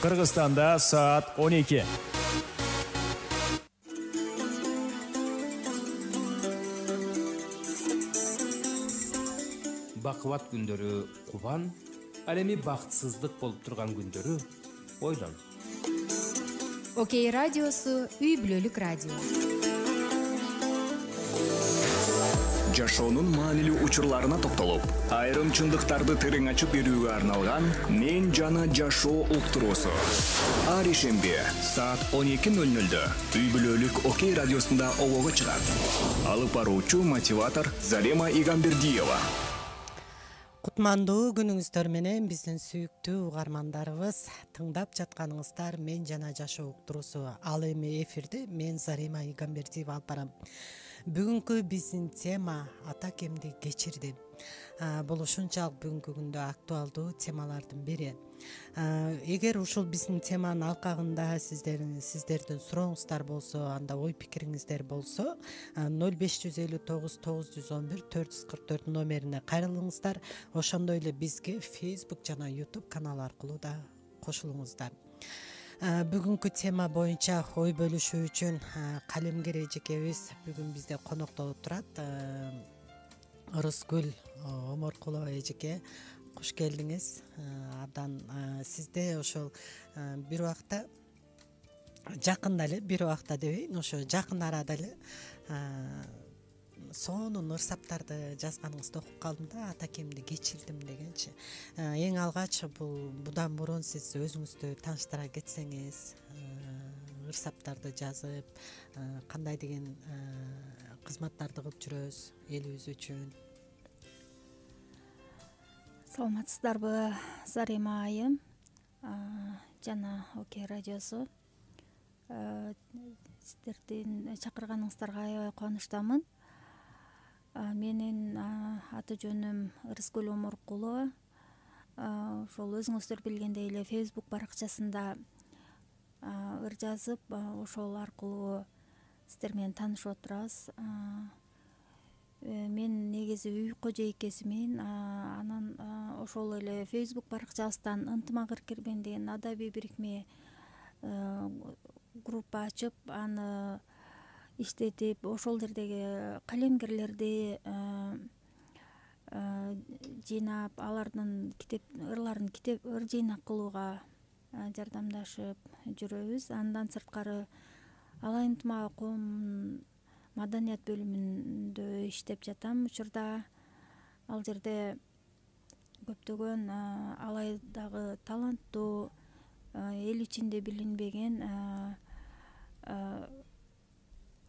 Кыргызстанда саат 12. Бакыбат күндөрү кубан, ал эми бактысыздык болуп турган күндөрү ойлон. Окей радиосу үй бүлөлүк радио. Жашоонун маанилүү учурларына токтолуп, айрым чындыктарды терең ачып берүүгө арналган Мен жана жашоо уктуруусу. Ар ишемби саат 12:00 үй бүлөлүк Окей радиосунда обого чыгат. Алып баруучу мотиватор Зарема Игамбердиева. Кутмандуу күнүңүздөр менен биздин сүйүктүү угармандарыбыз, тыңдап жатканыңыздар Мен жана жашоо уктуруусу. Ал эми эфирде мен Зарема Игамбердиева алып барам. Бүгүнкү биздин тема ата кемди кечирди. Бул ушунчалык бүгүнкү күндө актуалдуу темалардын бири. Эгер ушул биздин теманын алкагында сиздердин сурооңуздар болсо, анда ой пикириңиздер болсо, 0559 911 444 номерине кайрылыңыздар. Ошондой эле бизге Facebook жана YouTube канал аркылуу да кошулуңуздар. Бүгүнкү тема боюнча ой бөлүшүү үчүн калемгер эжекебиз бүгүн бизде конокто отурат. Ырыскүл Оморкулова эжеке, куш келдиңиз. Абдан сизде ошол бир убакта жакында эле, бир убакта дебейин, ошо жакын арада эле сонун ырсаптарды жазганыңызды окуп калдым да, ата кемди кечирдим дегенчи. Эң алгач будан мурун сиз өзүңүздү тааныштыра кетсеңиз, ырсаптарды жазып, кандай деген кызматтарды кылып жүрөсүз элибиз үчүн? Саламатсыздарбы, Зарема айым жана Окей радиосу. Сиздердин чакырганыңыздарга аябай кубанычтамын. Менин аты жөнүм Ырыскүл Оморкулова. Ошол өзүңүздөр билгендей эле Facebook баракчасында ыр жазып, ошол аркылуу сиздер менен таанышып отурабыз. Мен негизи үй кожойкесимин. Анан ошол эле Facebook баракчабыздан ынтымак эркермен деген адабий бирикме группа ачып, аны иштетип, ошол жердеги калемгерлерди жыйнап, алардын ырларын ыр жыйнак кылууга жардамдашып жүрөбүз. Андан сырткары Алай ынтымагы коомунун маданият бөлүмүндө иштеп жатам учурда. Ал жерде көптөгөн Алайдагы таланттуу, эл ичинде билинбеген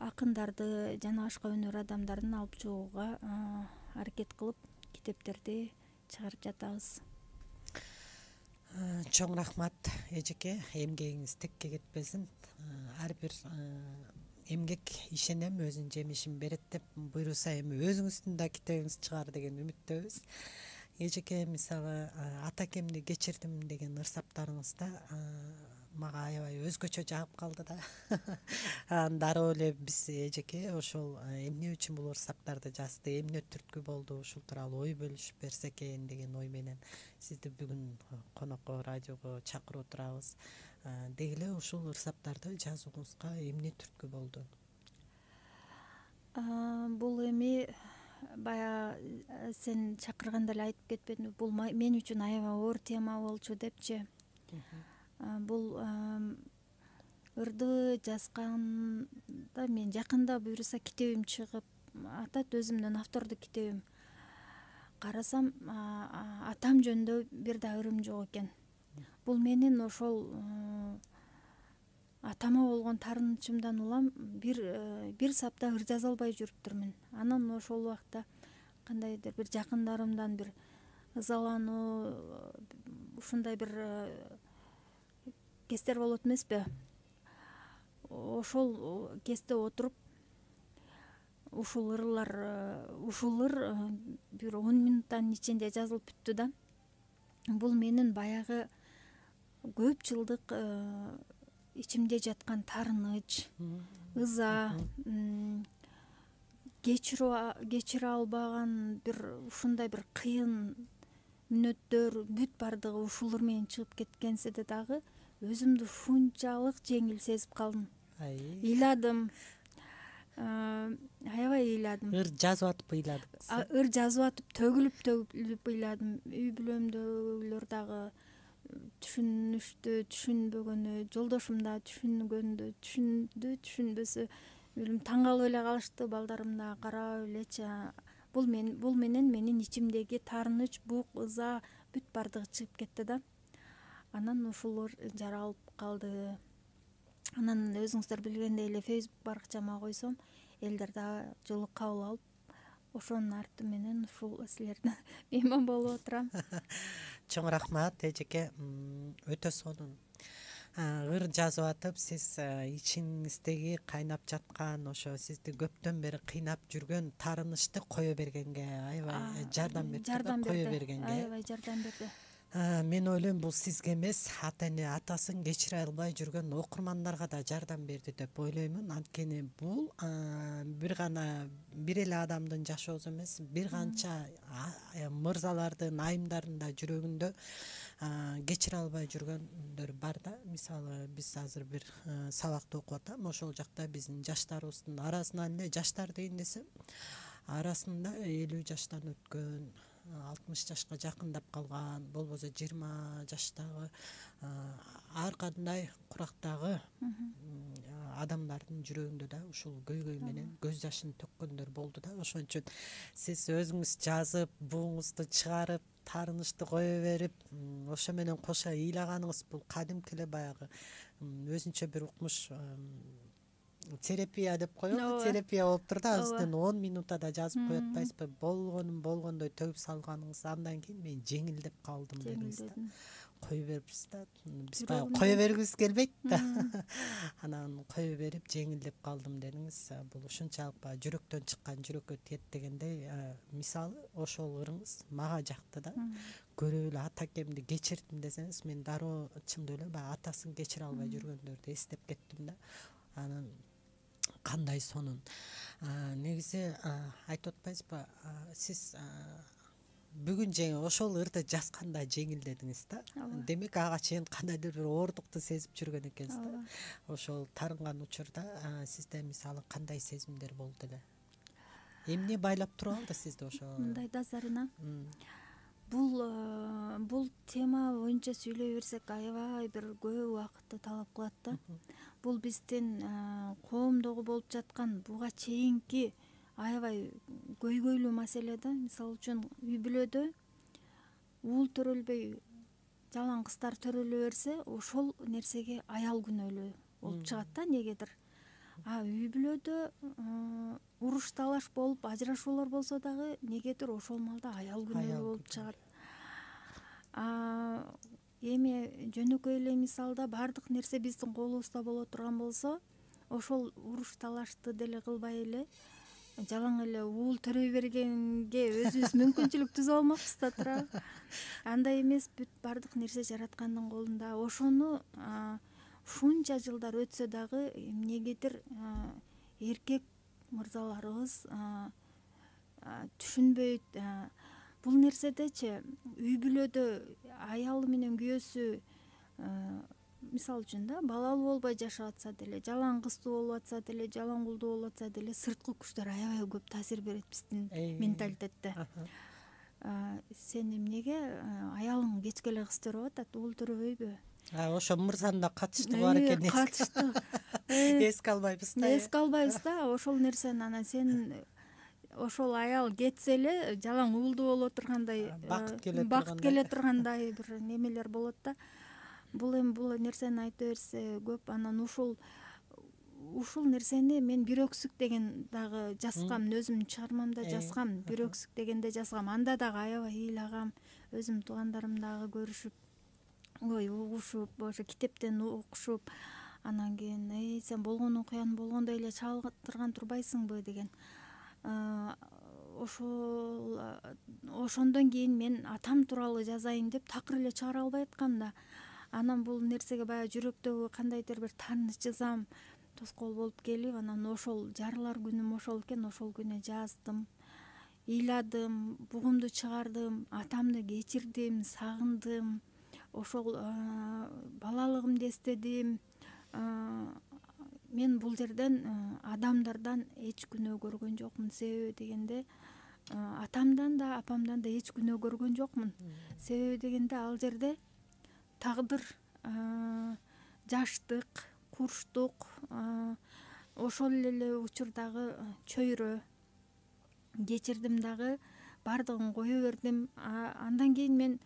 акындарды жана башка өнөр адамдарын алып чыгууга аракет кылып, китептерди чыгарып жатабыз. Чоң рахмат эжеке, эмгегиңиз текке кетпесин. Ар бир эмгек ишенем өзүнүн жемишин берет деп буйруса, эми өзүңүздүн да китебиңиз чыгар деген үмүттөбүз. Эжеке, мисалы ата кемди кечирдим деген ырсаптарыңызда мага аябай өзгөчө жагып калды да. Дароо эле биз эжеке ошол эмне үчүн бул ырсаптарды жазды, эмне түрткү болду, ушул тууралуу ой бөлүшүп берсе экен деген ой менен сизди бүгүн конокко, радиого чакырып турабыз. Деги эле ушул ырсаптарды жазууңузга эмне түрткү болду? Бул эми бая сен чакырганда эле айтып кетпедимби, бул мен үчүн аябай оор тема болчу депчи. Бул ырды жазганда мен жакында буюрса китебим чыгып атат, өзүмдүн автордук китебим. Карасам атам жөнүндө бир да өрүм жок экен. Бул менин ошол атама болгон таарынычымдан улам бир сапта ыр жаза албай жүрүптүрмүн. Анан ошол убакта кандайдыр бир жакындарымдан бир ызалануу, ушундай бир кездер болот эмеспи? Ошол кезде отуруп ушул ыр бир 10 минуттан ичинде жазылып бүттү да. Бул менин баягы көп жылдык ичимде жаткан таарыныч, ыза, кечире албаган бир ушундай бир кыйын мүнөттөр бүт бардыгы ушул ыр менен чыгып кеткенсе дагы өзүмдү ушунчалык жеңил сезип калдым. Ыйладым, аябай ыйладым. Ыр жазып атып ыйладыңыз. Ыр жазып атып төгүлүп ыйладым. Үй бүлөмдөгүлөр дагы түшүнүштү, түшүнбөгөнү, жолдошум да түшүнгөндү, түшүнбөсө таң калып эле калышты. Балдарым да карап элечи. Бул менен менин ичимдеги таарыныч, бук, ыза бүт бардыгы чыгып кетти да. Анан ушулар жаралып калды. Анан өзүңүздөр билгендей эле Facebook баракчама койсом, элдер да жылы кабыл алып, ошонун арты менен ушул силердин мейман болуп отурам. Чоң рахмат эжеке, өтө сонун. Ыр жазып атып, сиз ичиңиздеги кайнап жаткан, ошо сизди көптөн бери кыйнап жүргөн таарынычты кое бергенге аябай жардам берди. Кое бергенге аябай жардам берди. Мен ойлойм, бул сизге эмес, ата эне атасын кечире албай жүргөн окурмандарга да жардам берди деп ойлоймун. Анткени бул бир эле адамдын жашоосу эмес, бир канча мырзалардын, айымдардын да жүрөгүндө кечире албай жүргөндөр бар да. Мисалы, биз азыр бир сабакты окуп атам, ошол жакта биздин жаштарыбыздын арасынан эле, жаштар дейин десем, арасында 50 жаштан өткөн, 60 жашка жакындап калган, болбосо 20 жаштагы ар кандай курактагы адамдардын жүрөгүндө да ушул көйгөй менен көз жашын төккөндөр болду да. Ошон үчүн сиз өзүңүз жазып, буңузду чыгарып, таарынычты кое берип, ошо менен кошо ыйлаганыңыз бул кадимки эле баягы өзүнчө бир укмуш терапия деп коелу, терапия болуп тур да. Азырдан 10 минутта да жазып коет атпайсызбы? Болгондой төгүп салганыңыз, андан кийин мен жеңилдеп калдым дедиңиз да. Кое берипсиз да. Биз баягы кое бергибиз келбейт да. Анан кое берип жеңилдеп калдым дедиңиз. Бул ушунчалык баягы жүрөктөн чыккан жүрөккө тиет дегендей, мисалы ошол ырыңыз мага жакты да. Көрүп эле атакемди кечирдим десеңиз, мен дароо чындап эле баягы атасын кечире албай жүргөндөрдү эстеп кеттим да. Анан кандай сонун. Негизи айтып атпайсызбы, сиз бүгүн ошол ырды жазганда жеңилдедиңиз да. Демек ага чейин кандайдыр бир оордукту сезип жүргөн экенсиз да. Ошол тарынган учурда сизде мисалы кандай сезимдер болду эле? Эмне байлап туруп алды сизди ошо? Мындай да, Зарина. Бул тема боюнча сүйлөй берсек аябай бир көп убакытты талап кылат да. Бул биздин коомдогу болуп жаткан буга чейинки аябай көйгөйлүү маселе да. Мисалы үчүн үй бүлөдө уул төрөлбөй жалаң кыздар төрөлө берсе, ошол нерсеге аял күнөөлүү болуп чыгат да негедир. Үй бүлөдө уруш талаш болуп ажырашуулар болсо дагы негедир ошол маалда аял күнөөлүү болуп чыгат. Эми жөнөкөй эле мисалда баардык нерсе биздин колубузда боло турган болсо, ошол уруш талашты деле кылбай эле жалаң эле уул төрөй бергенге өзүбүз мүмкүнчүлүк түзүп алмакпыз да туурабы? Андай эмес, бүт баардык нерсе жараткандын колунда. Ошону ушунча жылдар өтсө дагы эмнегедир эркек мырзаларыбыз түшүнбөйт. Бул нерседечи үй бүлөдө аялы менен күйөөсү мисалы үчүн да балалуу болбой жашап атса деле, жалаң кыздуу болуп атса деле, жалаң кулдуу болуп атса деле, сырткы күчтөр аябай көп таасир берет биздин менталитетте. Сен эмнеге аялың кечке эле кыз төрөп атат, уул төрөбөйбү? Ошо мырзанын да катышты бар экен. Катышты. Эске албайбыз да. Эске албайбыз да. Ошол нерсени анан сен ошол аял кетсе эле жалаң уулдуу боло тургандай, бакыт келе тургандай бир немелер болот да. Бул нерсени айта берсе көп. Анан ушул нерсени мен бирөксүк деген дагы жазгам, өзүмдүн чыгармамда жазгам, бирөксүк дегенде жазгам. Анда дагы аябай ыйлагам, өзүмдүн туугандарым дагы көрүшүп, угушуп, ошо китептен окушуп, анан кийин сен болгон окуяны болгондой эле чагылдырган турбайсыңбы деген. Ошондон кийин мен атам тууралуу жазайын деп такыр эле чыгара албай аткам да. Анан бул нерсеге баягы жүрөктөгү кандайдыр бир тааныч ызам тоскоол болуп келип, анан ошол жарылар күнүм ошол экен, ошол күнү жаздым, ыйладым, бугумду чыгардым, атамды кечирдим, сагындым. ошол балалыгымды эстедим. Мен бул жерден адамдардан эч күнөө көргөн жокмун. Себеби дегенде атамдан да апамдан да эч күнөө көргөн жокмун. Себеби дегенде ал жерде тагдыр, жаштык, курчтук, ошол эле учурдагы чөйрө кечирдим дагы, баардыгын кое бердим. Андан кийин мен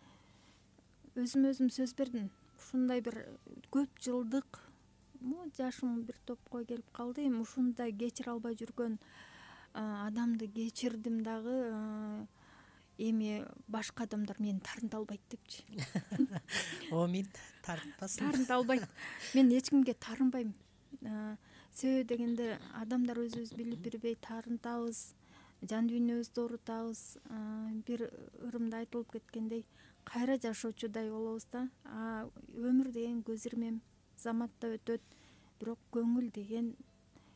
өзүмө өзүм сөз бердим. Ушундай бир көп жылдык жашым бир топко келип калды. Эми ушундай кечире албай жүргөн адамды кечирдим дагы, эми башка адамдар мени тарынта албайт депчи. Омин тарынтпасын. Тарынта албайт. Мен эч кимге тарынбайм. Себеби дегенде адамдар өзүбүз билип билбей тарынтабыз, жан дүйнөбүздү оорутабыз. Бир ырымда айтылып кеткендей, кайра жашоочудай болобуз да. Өмүр деген көз ирмем, заматта өтөт, бирок көңүл деген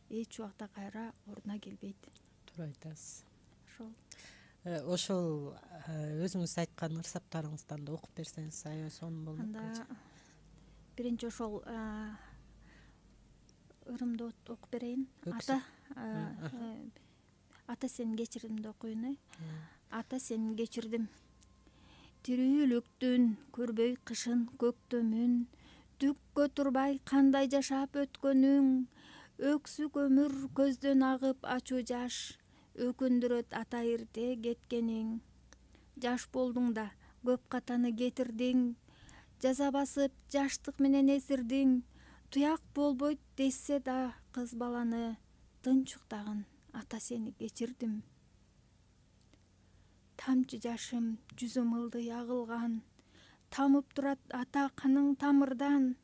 эч убакта кайра ордуна келбейт. Туура айтасыз. Ошол. Ошол өзүңүз айткан ырсаптарыңыздан да окуп берсеңиз аябай сонун болмок. Анда биринчи ошол ырымды окуп берейин. Ата сени кечирдим деп окуйун. Ата сени кечирдим. Тирүүлүктүн көрбөй кышын көктөмүн, түккө турбай кандай жашап өткөнүң, өксүк өмүр көздөн агып ачуу жаш, өкүндүрөт ата эрте кеткениң. Жаш болдуң да көп катаны кетирдиң, жаза басып жаштык менен эсирдиң. Туяк болбойт десе да кыз баланы, тынчуктагын ата сени кечирдим. Тамчы жашым жүзүм ылдый агылган, тамып турат ата каның тамырдан.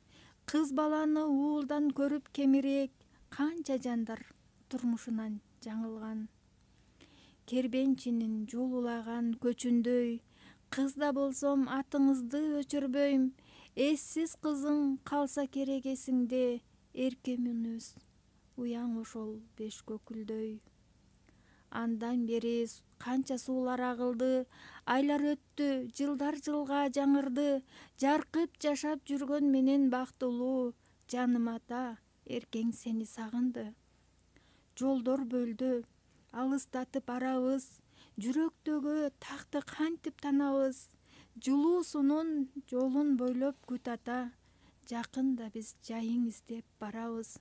Кыз баланы уулдан көрүп кемирек, канча жандар турмушунан жаңылган. Кербенчинин жуулулаган көчүндөй, кызда болсом атыңызды өчүрбөйм. Эссиз кызың калса керек эсиңде, эрке мүнөз уяң ошол беш көкүлдөй. Андан бери канча суулар агылды, айлар өттү, жылдар жылга жаңырды. Жаркып жашап жүргөн менен бактылуу, жаным ата, эркең сени сагынды. Жолдор бөлдү, алыстатып арабыз, жүрөктөгү такты кантип танабыз. Жылуусунун жолун бойлоп күт ата, жакында биз жайың издеп барабыз.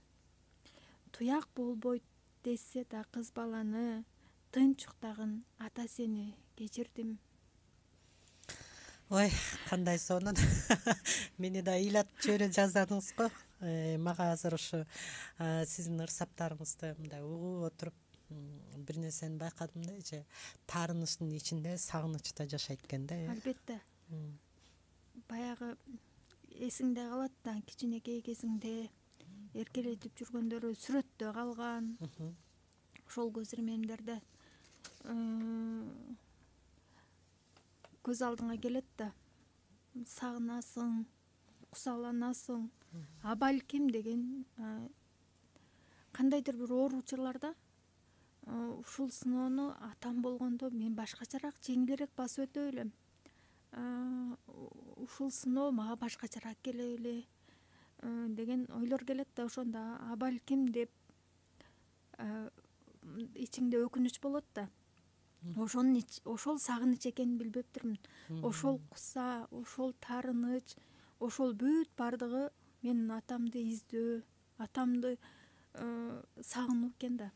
Туяк болбойт десе да кыз баланы, тынчуктагын ата сени кечирдим. Ой, кандай сонун. Мени да ыйлап жибере жаздадыңыз го. Мага азыр ушу сиздин ырсаптарыңызды мындай угуп отуруп бир нерсени байкадым да, же таарынычтын ичинде сагыныч да жашайт экен да. Албетте. Баягы эсиңде калат да, кичинекей кезиңде эркелетип жүргөндөрү сүрөттө калган. Ошол көз ирмемдерде көз алдыңа келет да, сагынасың, кусаланасың. Балким деген кандайдыр бир оор учурларда ушул сыноону атам болгондо мен башкачараак, жеңилирээк басып өтө белем. Ушул сыноо мага башкачараак келе беле деген ойлор келет да, ошондо балким деп ичиңде өкүнүч болот да. Ошол сагыныч экенин билбептирмин. Ошол куса, ошол таарыныч, ошол бүт баардыгы менин атамды издөө, атамды сагынуу экен да.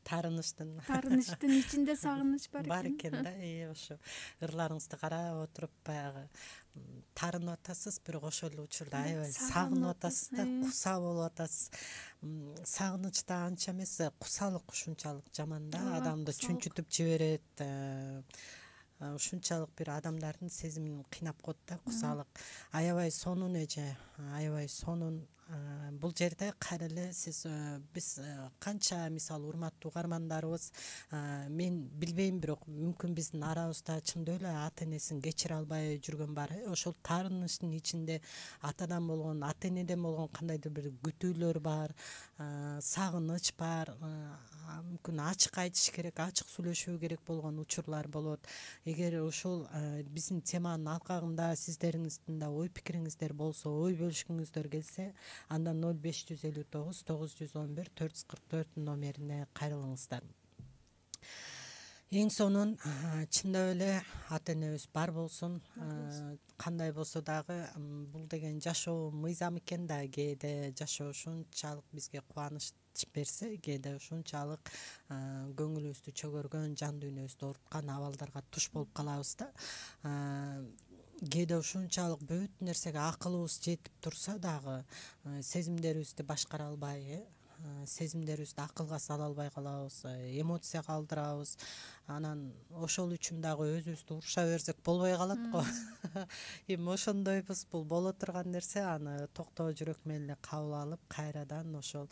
Таарынычтын ичинде сагыныч бар экен да. Ошо ырларыңызды карап отуруп баягы таарынып атасыз, бирок ошол эле учурда аябай сагынып атасыз да, куса болуп атасыз. Сагыныч да анча эмес, кусалык ушунчалык жаман да, адамды чүнчүтүп жиберет. Ушунчалык бир адамдардын сезимин кыйнап коет да, кусалык. Аябай сонун эже, аябай сонун бул жерде кайра эле сиз биз канча мисалы урматтуу угармандарыбыз мен билбейм, бирок мүмкүн биздин арабызда чындап эле ата энесин кечире албай жүргөн бар. Ошол таарынычтын ичинде атадан болгон, ата энеден болгон кандайдыр бир күтүүлөр бар, сагыныч бар, мүмкүн ачык айтыш керек, ачык сүйлөшүү керек болгон учурлар болот. Эгер ушул биздин теманын алкагында сиздериңиздин да ой пикириңиздер болсо, ой бөлүшкүңүздөр келсе, анда 0559 911 444 номерине кайрылыңыздар. Эң сонун чындап эле ата энебиз бар болсун. Кандай болсо дагы бул деген жашоо мыйзам экен да, кээде жашоо ушунчалык бизге кубаныч берсе, кээде ушунчалык көңүлүбүздү чөгөргөн, жан дүйнөбүздү ооруткан абалдарга туш болуп калабыз да. Кээде ушунчалык бүт нерсеге акылыбыз жетип турса дагы сезимдерибизди башкара албай, сезимдерибизди акылга сала албай калабыз, эмоцияга алдырабыз. Анан ошол үчүн дагы өзүбүздү уруша берсек болбой калат го. Эми ошондойбуз, бул боло турган нерсе, аны токтоо жүрөк менен эле кабыл алып, кайрадан ошол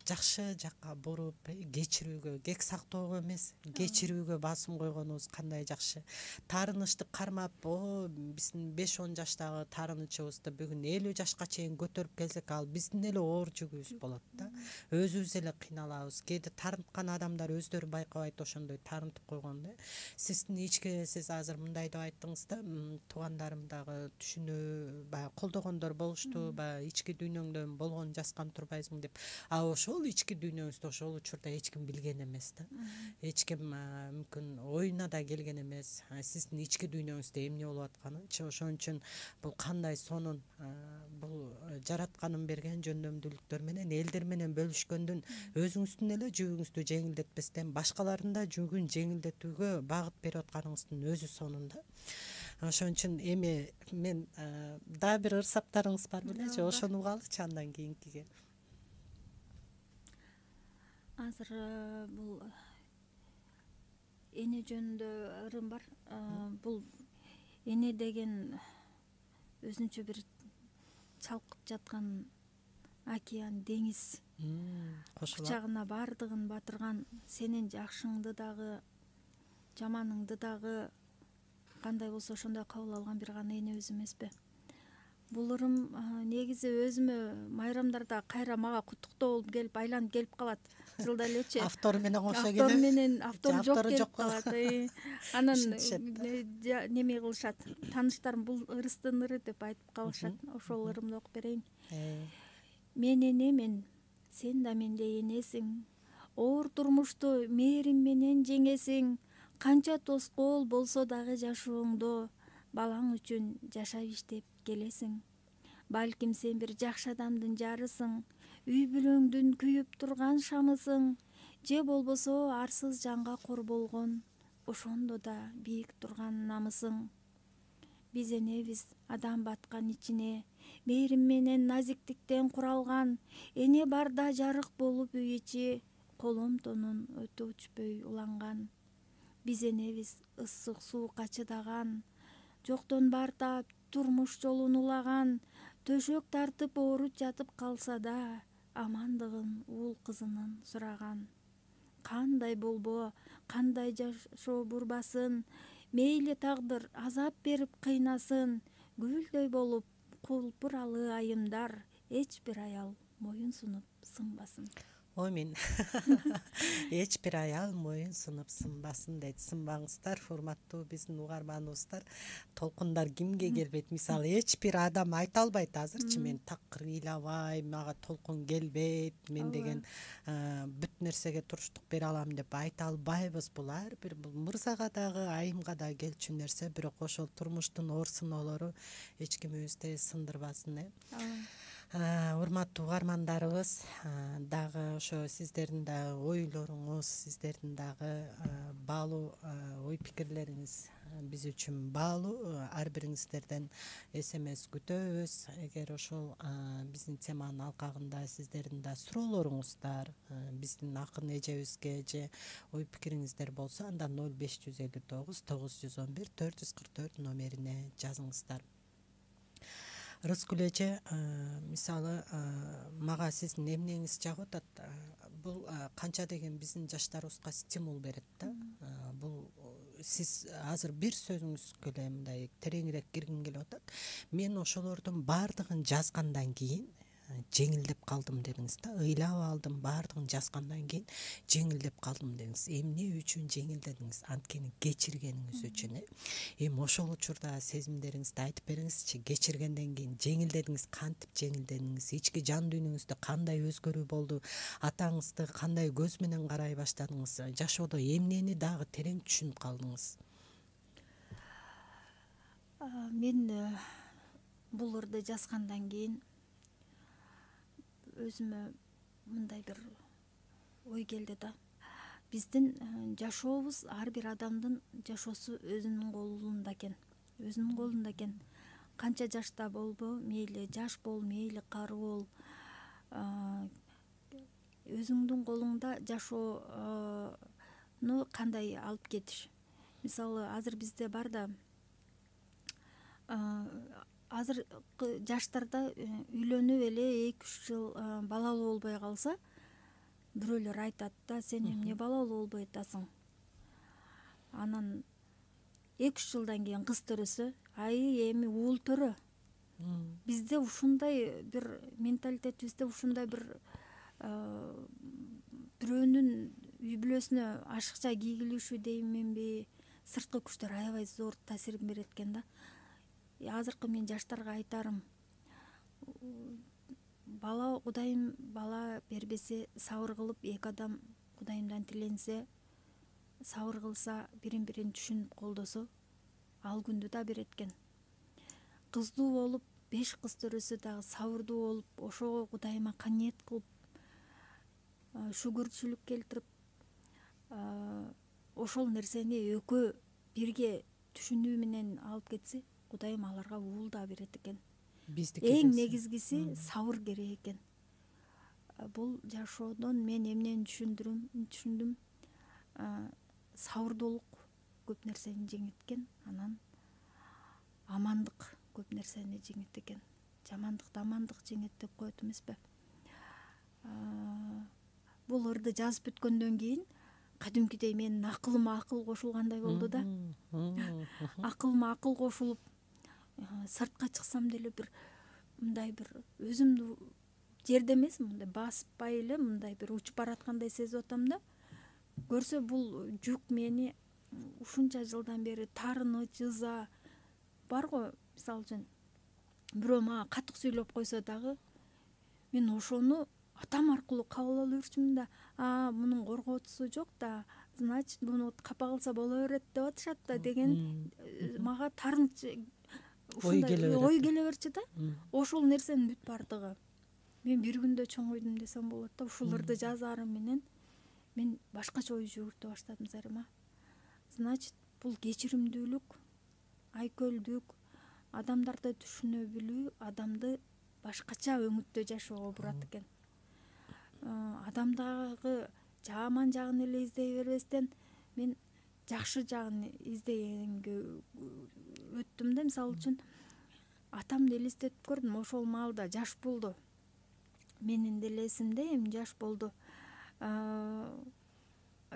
жакшы жакка буруп, кечирүүгө, кек сактоого эмес, кечирүүгө басым койгонубуз кандай жакшы. Таарынычты кармап, биздин 5-10 жаштагы таарынычыбызды бүгүн 50 жашка чейин көтөрүп келсек, ал биздин эле оор жүгүбүз болот да. Өзүбүз эле кыйналабыз. Кээде таарынткан адамдар өздөрү байкабайт, ошондой таарынтып койгон да. Сиздин ички, сиз азыр мындай деп айттыңыз да, туугандарым дагы түшүнүү, баягы колдогондор болушту, баягы ички дүйнөңдөн болгон жазган турбайсың деп. Ошол ички дүйнөңүздү ошол учурда эч ким билген эмес да. Эч ким мүмкүн оюна да келген эмес. Сиздин ички дүйнөңүздө эмне болуп атканынчы. Ошон үчүн бул кандай сонун, бул жаратканын берген жөндөмдүүлүктөр менен элдер менен бөлүшкөндүн өзүңүздүн эле жүгүңүздү жеңилдетпестен башкалардын да жүгүн жеңилдетүүгө багыт берип атканыңыздын өзү сонун да. Ошон үчүн эми мен дагы бир ырсаптарыңыз бар беле же, ошону угалычы андан кийинкиге. Азыр бул эне жөнүндө ырым бар. Бул эне деген өзүнчө бир чалкып жаткан океан, деңиз. Кучагына бардыгын батырган, сенин жакшыңды дагы, жаманыңды дагы кандай болсо ошондой кабыл алган бир гана энебиз эмеспи? Бул ырым негизи өзүмө майрамдарда кайра мага куттуктоо болуп келип, айланып келип калат. Жылда элечи. Автору менен кошо келип. Автору менен, автору жок келип калат. Анан неме кылышат, тааныштарым бул ырыстын ыры деп айтып калышат. Ошол ырымды окуп берейин. Мен энемен, сен да мендей энесиң. Оор турмушту мээрим менен жеңесиң. Канча тоскоол болсо дагы жашооңдо, балаң үчүн жашап иштеп келесиң. Балким сен бир жакшы адамдын жарысың, үй бүлөңдүн күйүп турган шамысың, же болбосо арсыз жанга кор болгон, ошондо да бийик турган намысың. Биз энебиз адам баткан ичине, мээрим менен назиктиктен куралган, эне барда жарык болуп үй ичи, колом тонун өтө өчпөй уланган. Биз энебиз ысык суукка чыдаган, жоктон бар таап турмуш жолун улаган, төшөк тартып ооруп жатып калса да, амандыгын уул кызынын сураган. Кандай болбо, кандай жашоо бурбасын, мейли тагдыр азап берип кыйнасын, гүлдөй болуп кулпуралы айымдар, эч бир аял моюн сунуп сынбасын. Омин. Эч бир аял моюн сунуп сынбасын дейт. Сынбаңыздар, урматтуу биздин угарманыбыздар. Толкундар кимге келбейт? Мисалы, эч бир адам айта албайт азырчы, мен такыр ыйлабайм, мага толкун келбейт, мен деген бүт нерсеге туруштук бере алам деп айта албайбыз. Бул ар бир бул мырзага дагы, айымга да келчү нерсе, бирок ошол турмуштун оор сыноолору эч кимибизди сындырбасын. Урматтуу угармандарыбыз, дагы ошо сиздердин да ойлоруңуз, сиздердин дагы баалуу ой пикирлериңиз биз үчүн баалуу. Ар бириңиздерден SMS күтөбүз. Эгер ошол биздин теманын алкагында сиздердин да суроолоруңуздар биздин акын эжебизге же ой пикириңиздер болсо, анда 0559 911 444 номерине жазыңыздар. Рыскүл эже, мисалы мага сиздин эмнеңиз жагып атат. Бул канча деген биздин жаштарыбызга стимул берет да. Бул сиз азыр бир сөзүңүзгө эле мындай тереңирээк киргим келип атат. Мен ошолордун баардыгын жазгандан кийин жеңилдеп калдым дедиңиз да. Ыйлап алдым, баардыгын жазгандан кийин жеңилдеп калдым дедиңиз. Эмне үчүн жеңилдедиңиз? Анткени кечиргениңиз үчүн. Эми ошол учурда сезимдериңизди айтып бериңизчи. Кечиргенден кийин жеңилдедиңиз, кантип жеңилдедиңиз? Ички жан дүйнөңүздө кандай өзгөрүү болду? Атаңызды кандай көз менен карай баштадыңыз? Жашоодо эмнени дагы терең түшүнүп калдыңыз? Мен бул ырды жазгандан кийин өзүмө мындай бир ой келди да. Биздин жашообуз, ар бир адамдын жашоосу өзүнүн колунда экен. Өзүнүн колунда экен. Канча жашта болбо, мейли жаш бол, мейли кары бол, өзүңдүн колуңда жашоону кандай алып кетиш. Мисалы, азыр бизде бар да, азыркы жаштарда үйлөнүп эле 2-3 жыл балалуу болбой калса, бирөөлөр айтат да, сен эмне балалуу болбой атасың? Анан 2-3 жылдан кийин кыз төрөсө, эми уул төрө. Бизде ушундай бир менталитетибизде ушундай бир бирөөнүн үй бүлөсүнө ашыкча кийгилишүү дейменби, сырткы күчтөр аябай зор таасирин берет экен да. Азыркы мен жаштарга айтарым, бала Кудайым бала бербесе, сабыр кылып, эки адам Кудайымдан тиленсе, сабыр кылса, бирин түшүнүп колдосо, ал күндү да берет экен. Кыздуу болуп, 5 кыз төрөсө дагы сабырдуу болуп, ошого Кудайыма каниет кылып, шүгүрчүлүк келтирип, ошол нерсени экөө бирге түшүнүү менен алып кетсе, Кудайым аларга уул да берет экен. Эң негизгиси сабыр керек экен. Бул жашоодон мен эмнени түшүндүм? Сабырдуулук көп нерсени жеңет экен, анан амандык көп нерсени жеңет экен. Жамандыкты амандык жеңет деп коет эмеспи? Бул ырды жазып бүткөндөн кийин кадимкидей менин акылыма акыл кошулгандай болду да. Акылыма акыл кошулуп, сыртка чыксам деле бир мындай бир өзүмдү жерде эмес, мындай баспай эле мындай бир учуп бараткандай сезип атам да. Көрсө бул жүк мени ушунча жылдан бери таарыныч, ыза бар го. Мисалы үчүн бирөө мага катык сүйлөп койсо дагы, мен ошону атам аркылуу кабыл ала берчүмүн да. Мунун коргоочусу жок да, значит, муну капа кылса боло берет деп атышат да деген мага таарыныч ой келе берчү да. Ошол нерсенин бүт бардыгы мен бир күндө чоңойдум десем болот да. Ушул ырды жазаарым менен мен башкача ой жүгүртө баштадым зарыма. Значит, бул кечиримдүүлүк, айкөлдүк, адамдарды түшүнө билүү адамды башкача өңүттө жашоого бурат экен. Адамдагы жаман жагын эле издей бербестен, мен жакшы жагын издегенге өттүм да. Мисалы үчүн атамды элестетип көрдүм. Ошол маалда жаш болду. Менин деле эсимде, эми жаш болду.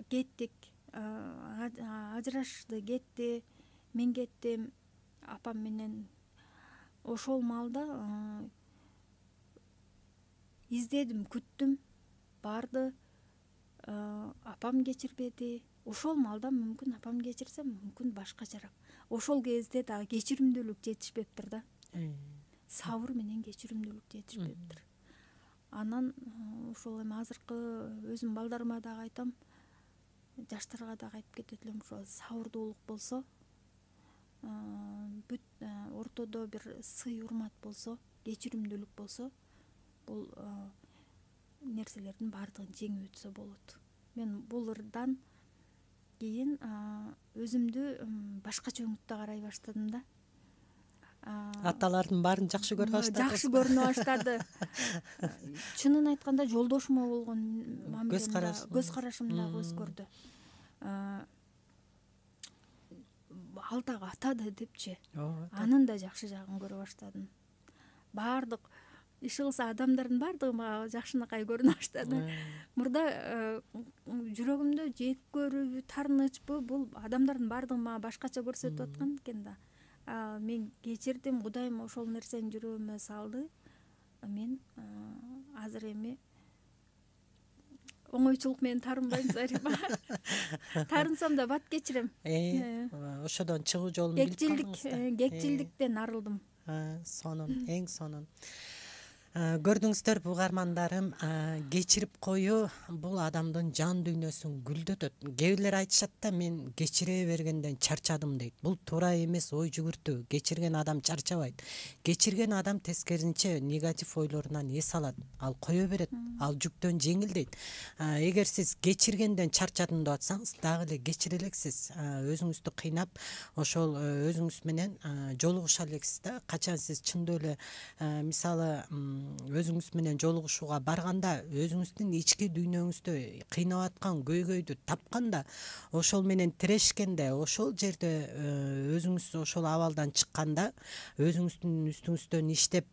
Кеттик, ажырашты, кетти, мен кеттим апам менен. Ошол маалда издедим, күттүм, барды, апам кечирбеди. Ошол маалда мүмкүн апам кечирсе, мүмкүн башкачараак. Ошол кезде дагы кечиримдүүлүк жетишпептир да. Сабыр менен кечиримдүүлүк жетишпептир. Анан ошол эми азыркы өзүм балдарыма дагы айтам, жаштарга дагы айтып кетет элем, ошол сабырдуулук болсо, бүт ортодо бир сый урмат болсо, кечиримдүүлүк болсо, бул нерселердин баардыгын жеңип өтсө болот. Мен бул ырдан кийин өзүмдү башкача өңүттө карай баштадым да. Аталардын баарын жакшы көрө баштадым. Жакшы көрүнө баштады. Чынын айтканда жолдошума болгон мамилемде, көз карашым дагы өзгөрдү. Ал дагы ата да депчи. Анын да жакшы жагын көрө баштадым. баардык иш кылса адамдардын баардыгы мага жакшынакай көрүнө баштады. Мурда жүрөгүмдө жек көрүүбү, таарынычпы, бул адамдардын баардыгы мага башкача көрсөтүп аткан экен да. Мен кечирдим, Кудайым ошол нерсени жүрөгүмө салды. Мен азыр эми оңойчулук менен таарынбайм Зарима. Таарынсам да бат кечирем. Ошодон чыгуу жолун билип калдыңыз да. Кекчилдиктен арылдым. Сонун, эң сонун. Көрдүңүздөр угармандарым, кечирип коюу бул адамдын жан дүйнөсүн гүлдөтөт. Кээ бирлер айтышат да, мен кечире бергенден чарчадым дейт. Бул туура эмес ой жүгүртүү. Кечирген адам чарчабайт. Кечирген адам тескерисинче негатив ойлорунан эс алат. Ал кое берет. Ал жүктөн жеңилдейт. Эгер сиз кечиргенден чарчадым деп атсаңыз, дагы эле кечире элексиз. Өзүңүздү кыйнап, ошол өзүңүз менен жолугуша элексиз да. Качан сиз чындоо эле мисалы өзүңүз менен жолугушууга барганда, өзүңүздүн ички дүйнөңүздө кыйнап аткан көйгөйдү тапканда, ошол менен тирешкенде, ошол жерде өзүңүз ошол абалдан чыкканда, өзүңүздүн үстүңүздөн иштеп,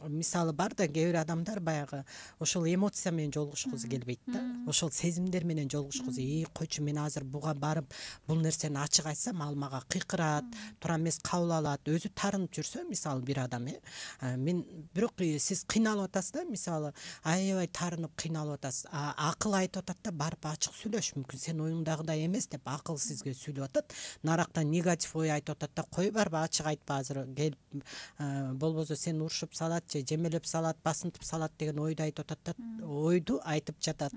мисалы бар да, кээ бир адамдар баягы ошол эмоция менен жолугушкусу келбейт да. Ошол сезимдер менен жолугушкусу, койчу, мен азыр буга барып бул нерсени ачык айтсам, ал мага кыйкырат, туура эмес кабыл алат. Өзү таарынып жүрсө, мисалы бир адам, мен бирок сиз кыйналып атасыз да, мисалы аябай таарынып кыйналып атасыз. Акыл айтып атат да, барып ачык сүйлөш, мүмкүн сен оюңдагыдай эмес деп акыл сизге сүйлөп атат. Нарактан негатив ой айтып атат да, кой барып ачык айтпа азыр келип, болбосо сени урушуп салат же жемелеп салат, басынтып салат деген ойду айтып атат да, ойду айтып жатат.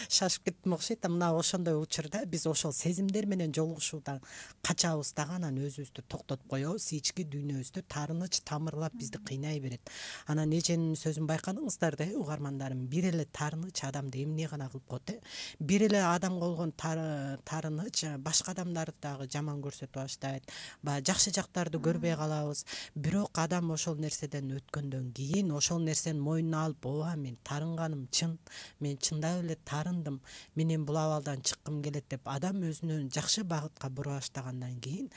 Шашып кеттим окшойт да. Мына ошондой учурда биз ошол сезимдер менен жолугушуудан качабыз дагы, анан өзүбүздү токтотуп коебуз. Ички дүйнөбүздө таарыныч тамырлап бизди кыйнай берет. Анан эженин сөзүн байкадыңыздар да, угармандарым, бир эле таарыныч адамды эмне гана кылып коет. Бир эле адамга болгон таарыныч башка адамдарды дагы жаман көрсөтүп баштайт. Баягы жакшы жактарды көрбөй калабыз. Бирок адам ошол нерседен өткөндөн кийин ошол нерсени мойнуна алып, ооба, мен таарынганым чын, мен чындап эле таарындым, менин бул абалдан чыккым келет деп адам өзүнө жакшы багытка бура баштагандан кийин,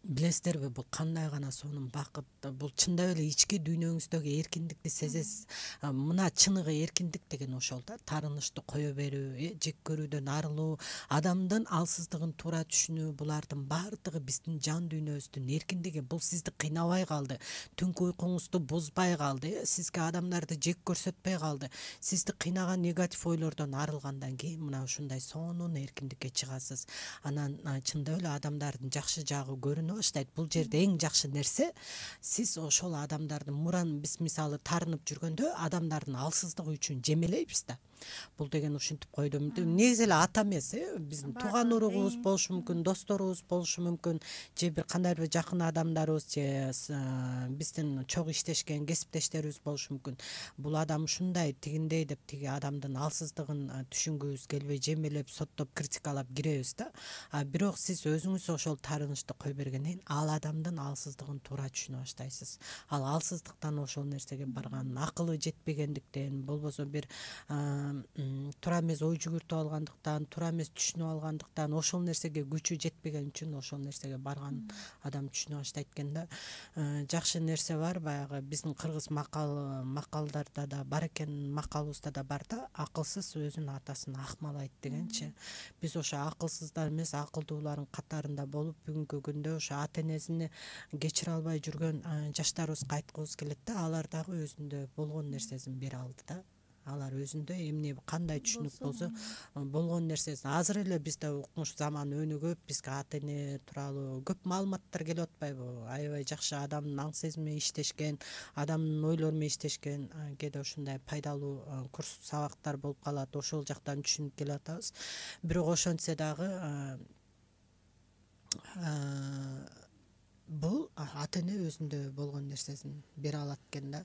билесиздерби, бул кандай гана сонун бакыт, бул чындап эле ички дүйнөңүздөгү эркиндикти сезесиз. Мына чыныгы эркиндик деген ошол да, таарынычты кое берүү, жек көрүүдөн арылуу, адамдын алсыздыгын туура түшүнүү, булардын баардыгы биздин жан дүйнөбүздүн эркиндиги. Бул сизди кыйнабай калды, түнкү уйкуңузду бузбай калды, сизге адамдарды жек көрсөтпөй калды. Сизди кыйнаган негатив ойлордон арылгандан кийин мына ушундай сонун эркиндикке чыгасыз. Анан чындап эле адамдардын жакшы жагы көрүнө баштайт. Бул жерде эң жакшы нерсе, сиз ошол адамдардын муран биз мисалы таарынып жүргөндө адамдардын алсыздыгы үчүн жемелейбиз да. Бул деген ушинтип койдум. Негизи эле ата эмес, биздин тууган уругубуз болушу мүмкүн, досторубуз болушу мүмкүн, же бир кандайдыр жакын адамдарыбыз, же биздин чогуу иштешкен кесиптештерибиз болушу мүмкүн. Бул адам ушундай, тигиндей деп тиги адамдын алсыздыгын түшүнгүбүз келбей, жемелеп, соттоп, критикалап киребиз да. Бирок сиз өзүңүз ошол таарынычты кой бергенден ал адамдын алсыздыгын туура түшүнө баштайсыз. Ал алсыздыктан ошол нерсеге барган, акылы жетпегендиктен, болбосо бир туура эмес ой жүгүртүп алгандыктан, туура эмес түшүнүп алгандыктан, ошол нерсеге күчү жетпеген үчүн ошол нерсеге барган адам түшүнө баштайт экен да. Жакшы нерсе бар, баягы биздин кыргыз макалдарда да бар экен, макалыбызда да бар да, акылсыз өзүнүн атасын акмалайт дегенчи. Биз ошо акылсыздар эмес, акылдуулардын катарында болуп, бүгүнкү күндө ошо ата энесин кечире албай жүргөн жаштарыбызга айткыбыз келет да, алар дагы өзүндө болгон нерсесин бере алды да. Алар өзүндө эмне кандай түшүнүк болсо болгон нерсесин. Азыр эле бизде укмуш заман өнүгүп, бизге ата эне тууралуу көп маалыматтар келип атпайбы? Аябай жакшы адамдын аң сезими менен иштешкен, адамдын ойлору менен иштешкен, кээде ушундай пайдалуу курс сабактар болуп калат. Ошол жактан түшүнүп келип атабыз. Бирок ошентсе дагы бул ата эне өзүндө болгон нерсесин бере алат экен да.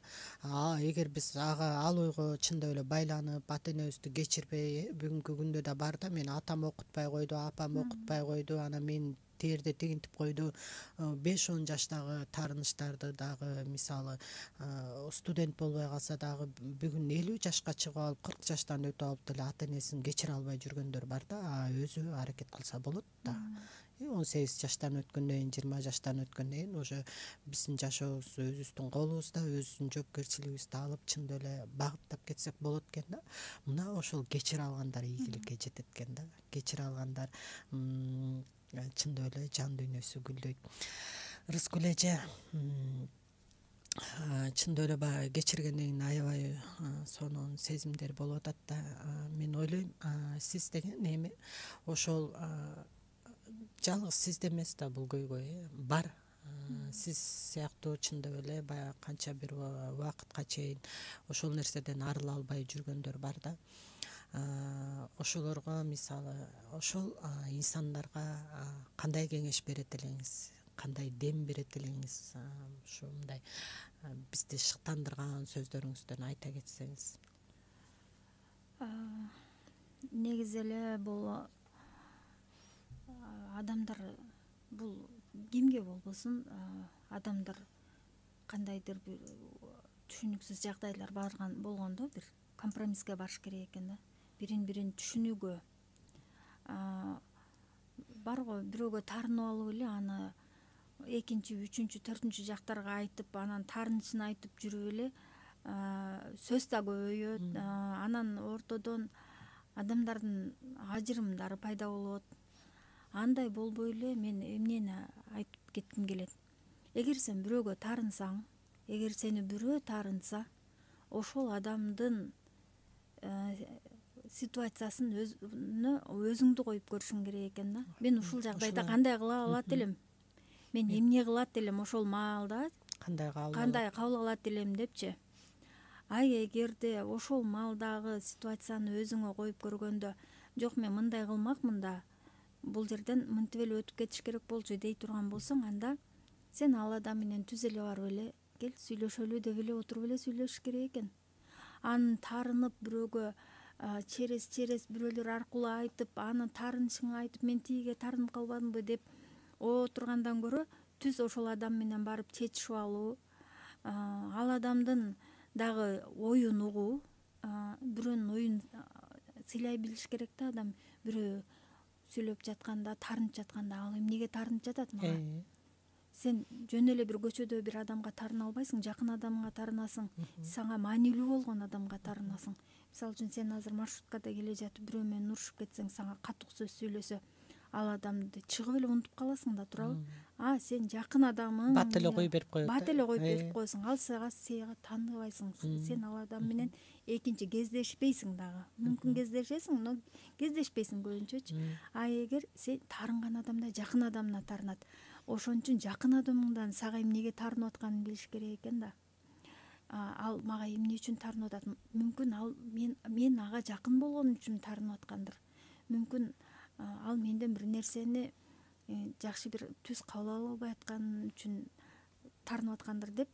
Эгер биз ал ойго чындап эле байланып, ата энебизди кечирбей, бүгүнкү күндө да бар да, мен атам окутпай койду, апам окутпай койду, анан мен тээрде тигинтип койду. 5-10 жаштагы таарынычтарды дагы мисалы студент болбой калса дагы бүгүн 50 жашка чыгып алып 40 жаштан өтүп алып деле ата энесин кечире албай жүргөндөр бар да. Өзү аракет кылса болот да. 18 жаштан өткөндөн кийин 20 жаштан өткөндөн кийин уже биздин жашообуз өзүбүздүн колубузда, өзүбүздүн жоопкерчилигибизди алып чындап эле багыттап кетсек болот экен да. Мына ошол кечире алгандар ийгиликке жетет экен да. Кечире алгандар чындап эле жан дүйнөсү гүлдөйт. Рыскүл эже чындап эле баягы кечиргенден кийин аябай сонун сезимдер болуп атат да. Мен ойлойм, сиз деген эми ошол жалгыз сизде эмес да бул көйгөй бар. Сиз сыяктуу чындап эле баягы канча бир убакытка чейин ошол нерседен арыла албай жүргөндөр бар да. Ошолорго мисалы ошол инсандарга кандай кеңеш берет элеңиз, кандай дем берет элеңиз, ушундай бизди шыктандырган сөздөрүңүздөн айта кетсеңиз. Негизи эле бул адамдар, бул кимге болбосун, адамдар кандайдыр бир түшүнүксүз жагдайлар болгондо бир компромисске барыш керек экен да. Бирин түшүнүүгө барго бирөөгө таарынып алып эле аны экинчи, үчүнчү, төртүнчү жактарга айтып, анан таарынычын айтып жүрүп эле сөз да көбөйөт. Анан ортодон адамдардын ажырымдары пайда болот. Андай болбой эле мен эмнени айтып кетким келет. Эгер сен бирөөгө таарынсаң, эгер сени бирөө таарынса, ошол адамдын ситуациясын өзүңдү коюп көрүшүң керек экен да. Мен ушул жагдайда кандай кыла алат элем? Мен эмне кылат элем ошол маалда? Кандай кабыл алат элем депчи. Эгерде ошол маалдагы ситуацияны өзүңө коюп көргөндө, жок мен мындай кылмакмын да, бул жерден мынтип эле өтүп кетиш керек болчу дей турган болсоң, анда сен ал адам менен түз эле барып эле кел сүйлөшөлү деп эле отуруп эле сүйлөшүш керек экен. Аны таарынып бирөөгө через бирөөлөр аркылуу айтып, аны таарынычыңы айтып, мен тигиге таарынып калбадымбы деп отургандан көрө түз ошол адам менен барып чечишип алуу, ал адамдын дагы оюн угуу, бирөөнүн оюн сыйлай билиш керек да. Адам бирөө сүйлөп жатканда, таарынып жатканда, ал эмнеге таарынып жатат мага? Сен жөн эле бир көчөдө бир адамга таарына албайсың, жакын адамыңа таарынасың, сага маанилүү болгон адамга таарынасың. Мисалы үчүн сен азыр маршруткада келе жатып бирөө менен урушуп кетсең, сага катуу сөз сүйлөсө, ал адамды чыгып эле унутуп каласың да, туурабы? Сен жакын адамың бат эле коюп берип коет. Бат эле коюп берип коесуң. Ал сага тааныбайсың. Сен ал адам менен экинчи кездешпейсиң дагы. Мүмкүн кездешесиң, но кездешпейсиң көбүнчөчү. Эгер сен таарынган адамда жакын адамына таарынат, ошон үчүн жакын адамыңдан сага эмнеге таарынып атканын билиш керек экен да. Ал мага эмне үчүн таарынып атат? Мүмкүн ал мен ага жакын болгон үчүн таарынып аткандыр. Мүмкүн ал менден бир нерсени жакшы бир түз кабыл ала албай аткан үчүн таарынып аткандыр деп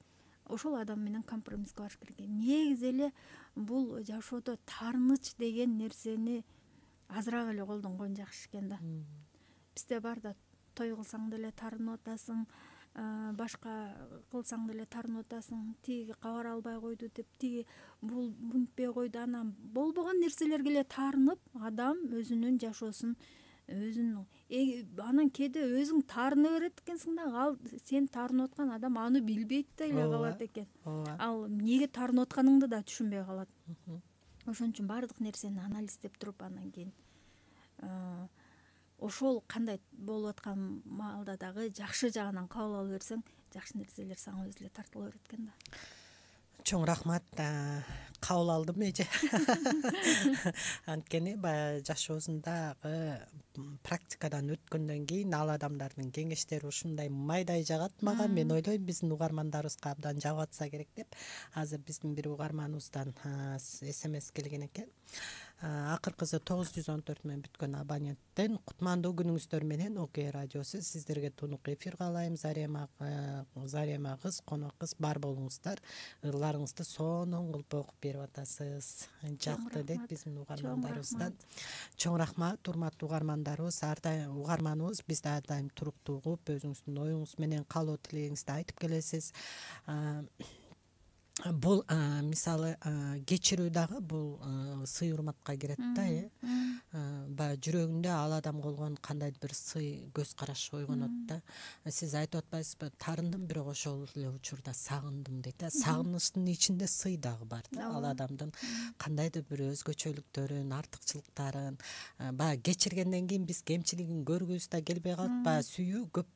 ошол адам менен компромисске барыш керек. Негизи эле бул жашоодо таарыныч деген нерсени азыраак эле колдонгон жакшы экен да. Бизде бар да, той кылсаң деле таарынып атасың, башка кылсаң деле таарынып атасың, тиги кабар албай койду деп, тиги бул мынтпей койду, анан болбогон нерселерге эле таарынып, адам өзүнүн жашоосун анан кээде өзүң таарына берет экенсиң да, ал сен таарынып аткан адам аны билбейт деле калат экен. Ал эмнеге таарынып атканыңды да түшүнбөй калат. Ошон үчүн баардык нерсени анализдеп туруп, анан кийин ошол кандай болуп аткан маалда дагы жакшы жагынан кабыл ала берсең, жакшы нерселер сага өзү эле тартыла берет экен да. Чоң рахмат, кабыл алдым эже. Анткени баягы жашоосундагы практикадан өткөндөн кийин ал адамдардын кеңештери ушундай майдай жагат мага. Мен ойлойм биздин угармандарыбызга абдан жагып атса керек деп. Азыр биздин бир угарманыбыздан СМС келген экен. акыркысы 914 менен бүткөн абоненттен кутмандуу күнүңүздөр менен Окей радиосу сиздерге тунук эфир каалайм. Зарема кыз, конок кыз бар болуңуздар. Ырларыңызды сонун кылып окуп берип атасыз. Жакты дейт биздин угармандарыбыздан. Чоң рахмат, урматтуу угармандарыбыз. Ар дайым угарманыбыз бизди ар дайым туруктуу угуп, өзүңүздүн оюңуз менен каалоо тилегиңизди айтып келесиз. Бул мисалы кечирүү дагы бул сый урматка кирет да, баягы жүрөгүндө ал адам болгон кандайдыр бир сый көз караш ойгонот да. Сиз айтып атпайсызбы, тарындым, бирок ошол эле учурда сагындым дейт да. Сагынычтын ичинде сый дагы бар да. Ал адамдын кандайдыр бир өзгөчөлүктөрүн, артыкчылыктарын баягы кечиргенден кийин биз кемчилигин көргүбүз да келбей калат. Баягы сүйүү көп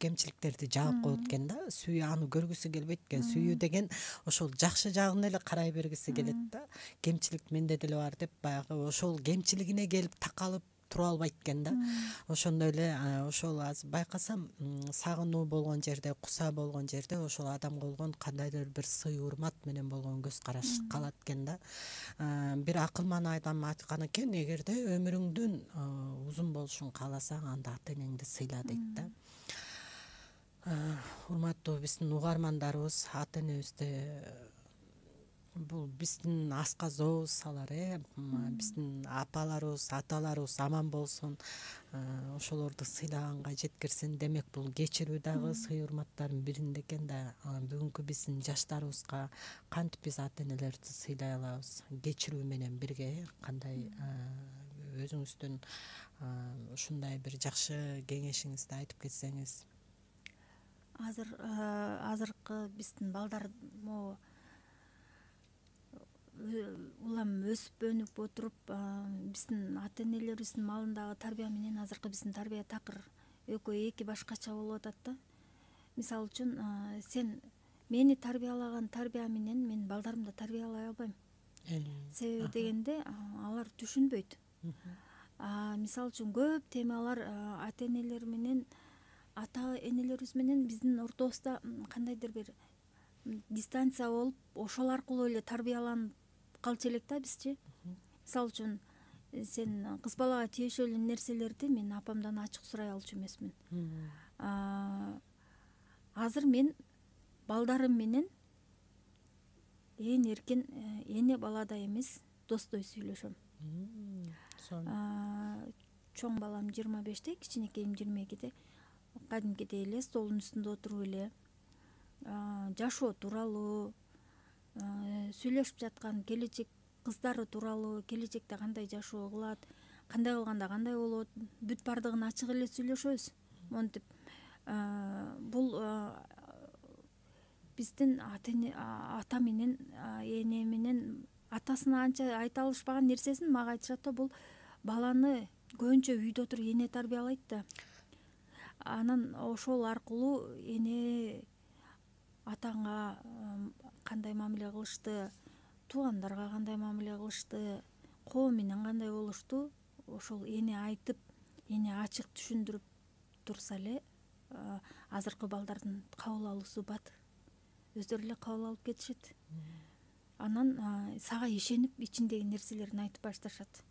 кемчиликтерди жаап коет экен да. Сүйүү аны көргүсү келбейт экен. Сүйүү деген ошол жакшы жагын эле карай бергиси келет да. Кемчилик менде деле бар деп баягы ошол кемчилигине келип такалып тура албайт экен да. Ошондой эле ошол азыр байкасам сагынуу болгон жерде, куса болгон жерде ошол адамга болгон кандайдыр бир сый урмат менен болгон көз караш калат экен да. Бир акылман адам айткан экен, эгерде өмүрүңдүн узун болушун кааласаң, анда ата энеңди сыйла дейт да. Урматтуу биздин угармандарыбыз, ата энебизди бул биздин асказообуз алар, биздин апаларыбыз, аталарыбыз аман болсун, ошолорду сыйлаганга жеткирсин. Демек бул кечирүү дагы сый урматтардын биринде экен да. Бүгүнкү биздин жаштарыбызга кантип биз ата энелерибизди сыйлай алабыз? Кечирүү менен бирге кандай өзүңүздүн ушундай бир жакшы кеңешиңизди айтып кетсеңиз. Азыркы биздин балдар могу улам өсүп өнүп отуруп, биздин ата энелерибиздин маалындагы тарбия менен азыркы биздин тарбия такыр экөө эки башкача болуп атат да. Мисалы үчүн, сен мени тарбиялаган тарбия менен мен балдарымды тарбиялай албайм. Себеби дегенде алар түшүнбөйт. Мисалы үчүн көп темалар ата энелер менен, ата энелерибиз менен биздин ортобузда кандайдыр бир дистанция болуп, ошол аркылуу эле тарбияланып калчу элек да бизчи. Мисалы үчүн, сен кыз балага тиешелүү нерселерди мен апамдан ачык сурай алчу эмесмин. Азыр мен балдарым менен эркин эне баладай эмес, достой сүйлөшөм. Чоң балам 25-те, кичинекейим 22-де. Кадимкидей эле столдун үстүндө отуруп эле жашоо тууралуу сүйлөшүп жаткан, келечек кыздары тууралуу, келечекте кандай жашоо кылат, кандай кылганда кандай болот, бүт бардыгын ачык эле сүйлөшөбүз. Монтип бул биздин ата менен эне менен атасына анча айта алышпаган нерсесин мага айтышат да, бул баланы көбүнчө үйдө отуруп эне тарбиялайт да. Анан ошол аркылуу эне атаңа кандай мамиле кылышты, туугандарга кандай мамиле кылышты, коом менен кандай болушту, ошол эне айтып, эне ачык түшүндүрүп турса эле азыркы балдардын кабыл алуусу бат. Өздөрү эле кабыл алып кетишет. Анан сага ишенип ичиндеги нерселерин айтып башташат.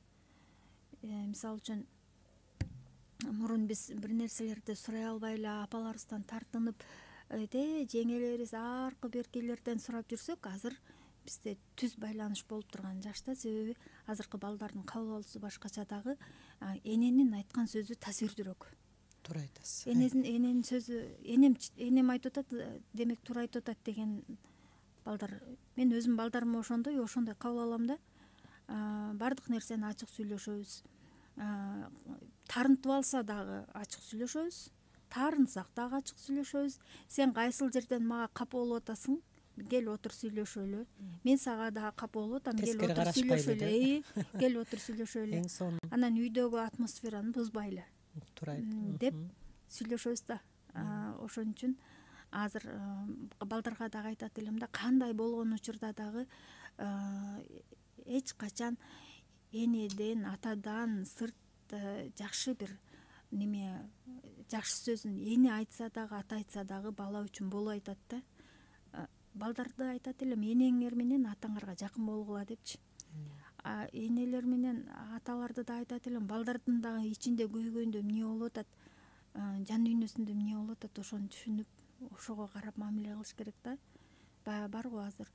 Мисалы үчүн, мурун биз бир нерселерди сурай албай эле апаларыбыздан тартынып, жеңелерибиз аркы беркилерден сурап жүрсөк, азыр бизде түз байланыш болуп турган жашта. Себеби азыркы балдардын кабыл алуусу башкача дагы, эненин айткан сөзү таасирдүүрөөк. Туура айтасыз. Эненин сөзү, энем айтып атат, демек туура айтып атат деген балдар. Мен өзүм балдарым ошондой кабыл алам да. Бардык нерсени ачык сүйлөшөбүз. Тарынтып алса дагы ачык сүйлөшөбүз. Таарынсак дагы ачык сүйлөшөбүз. Сен кайсыл жерден мага капа болуп атасың? Кел отур сүйлөшөлү. Мен сага дагы капа болуп атам. Кел отур сүйлөшөлү. Кел отур сүйлөшөлү. Анан үйдөгү атмосфераны бузбайлы. Туура айт. Деп сүйлөшөбүз да. Ошон үчүн азыр балдарга дагы айтат элем да, кандай болгон учурда дагы эч качан энеден, атадан сырт жакшы бир неме, жакшы сөзүн эне айтса дагы, ата айтса дагы бала үчүн болуп айтат да. Балдарды айтат элем, энеңер менен атаңарга жакын болгула депчи. Энелер менен аталарды да айтат элем, балдардын дагы ичинде көйгөйүндө эмне болуп атат, жан дүйнөсүндө эмне болуп атат, ошону түшүнүп, ошого карап мамиле кылыш керек да. Баягы бар го азыр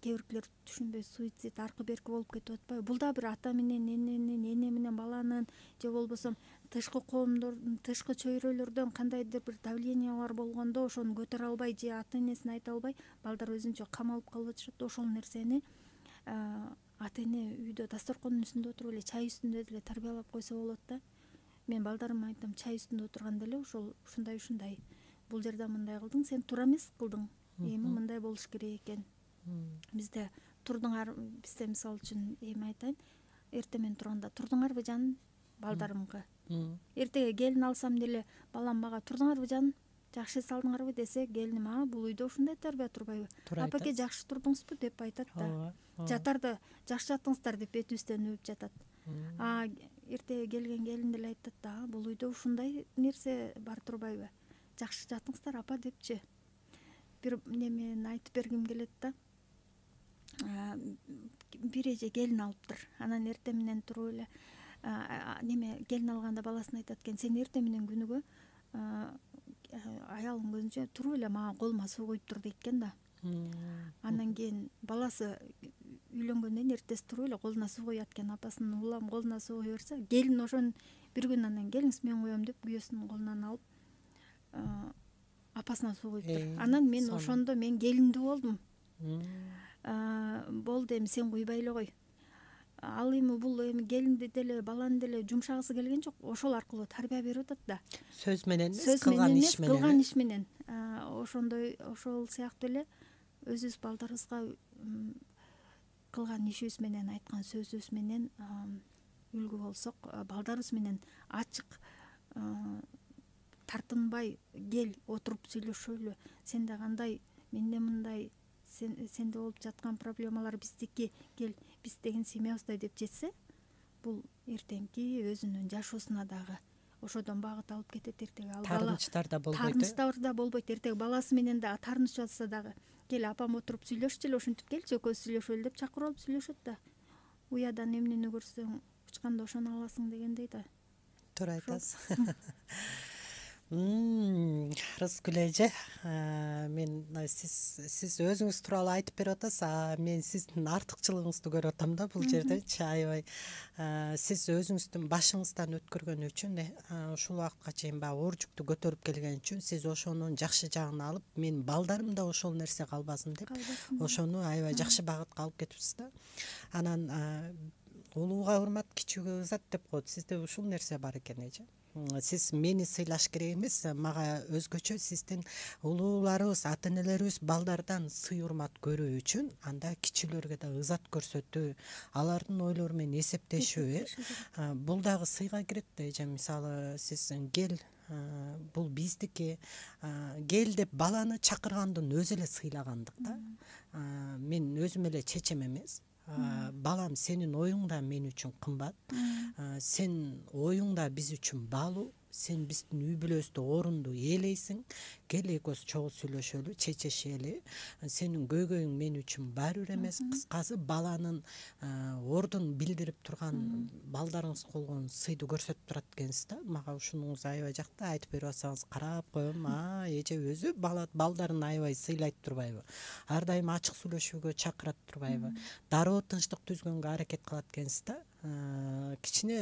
кээ биркилер түшүнбөй суицид аркы берки болуп кетип атпайбы? Бул да бир ата менен эненин, эне менен баланын, же болбосо тышкы коомдордун, тышкы чөйрөлөрдөн кандайдыр бир давлениялар болгондо ошону көтөрө албай же ата энесине айта албай балдар өзүнчө камалып калып атышат. Ошол нерсени ата эне үйдө дасторкондун үстүндө отуруп эле, чай үстүндө деле тарбиялап койсо болот да. Мен балдарыма айтам, чай үстүндө отурганда эле ушундай бул жерде мындай кылдың, сен туура эмес кылдың, эми мындай болуш керек экен. Бизде мисалы үчүн эми айтайын, эртең менен турганда турдуңарбы жаным балдарымга, эртеге келин алсам деле балам мага турдуңарбы жаным, жакшы эс алдыңарбы десе, келиним бул үйдө ушундай тарбия турбайбы, апаке жакшы турдуңузбу деп айтат да. Жатарда жакшы жаттыңыздар деп бетибизден өбүп жатат. Эртеге келген келин деле айтат да, бул үйдө ушундай нерсе бар турбайбы, жакшы жаттыңыздар апа депчи. Бир немени айтып бергим келет да. Бир эже келин алыптыр, анан эртең менен туруп эле келин алганда баласына айтат экен, сен эртең менен күнүгө аялың көзүнчө туруп эле мага колума суу куюп тур дейт экен да. Андан кийин баласы үйлөнгөндөн эртеси туруп эле колуна суу куят экен, апасынын улам колуна суу куя берсе, келин ошон бир күн анан келиңиз мен куям деп күйөөсүнүн колунан алып апасына суу куюптур. Анан мен ошондо мен келиндүү болдум. Болду, эми сен куйбай эле кой. Ал эми бул эми келинди деле баланы деле жумшагысы келген жок, ошол аркылуу тарбия берип атат да. Сөз менен эмес, кылган иш менен. Ошондой, ошол сыяктуу эле өзүбүз балдарыбызга кылган ишибиз менен, айткан сөзүбүз менен үлгү болсок, балдарыбыз менен ачык, тартынбай кел отуруп сүйлөшөлү, сенде кандай, менде мындай, сенде болуп жаткан проблемалар биздики, кел биз деген семьябыздай деп жетсе, бул эртеңки өзүнүн жашоосуна дагы ошодон багыт алып кетет. Эртеге ал бала таарынычтар да болбойт. Таарынычтар да болбойт. Эртеге баласы менен да таарыныч жатса дагы, кел апам отуруп сүйлөшчүлү, ушинтип келчи экөөбүз сүйлөшөлү деп чакырып алып сүйлөшөт да. Уядан эмнени көрсөң учканда ошону аласың дегендей да. Туура айтасыз. Рыскүл эже, мен сиз өзүңүз тууралуу айтып берип атасыз, мен сиздин артыкчылыгыңызды көрүп атам да бул жердечи. Аябай сиз өзүңүздүн башыңыздан өткөргөн үчүн, ушул убакытка чейин баягы оор жүктү көтөрүп келген үчүн, сиз ошонун жакшы жагын алып, мен балдарым да ошол нерсе калбасын деп, ошону аябай жакшы багытка алып кетипсиз да. Анан улууга урмат, кичүүгө ызат деп коет. Сизде ушул нерсе бар экен эже. Сиз мени сыйлаш керек эмес, мага өзгөчө сиздин улууларыбыз, ата энелерибиз балдардан сый урмат көрүү үчүн анда кичүүлөргө да ызат көрсөтүү, алардын ойлору менен эсептешүү, бул дагы сыйга кирет да эже. Мисалы сиз кел, бул биздики, кел деп баланы чакыргандын өзү эле сыйлагандык да. Мен өзүм эле чечем эмес. Балам, сенин оюң да мен үчүн кымбат, сен оюң да биз үчүн баалуу, сен биздин үй бүлөбүздө орунду ээлейсиң, кел экөөбүз чогуу сүйлөшөлү, чечешели, сенин көйгөйүң мен үчүн баары бир эмес. Кыскасы баланын ордун билдирип турган балдарыңыз болгон сыйды көрсөтүп турат экенсиз да. Мага ушунуңуз аябай жакты, айтып берип атсаңыз карап коем, эже өзү балдарын аябай сыйлайт турбайбы, ар дайым ачык сүйлөшүүгө чакырат турбайбы, дароо тынчтык түзгөнгө аракет кылат экенсиз да. Кичине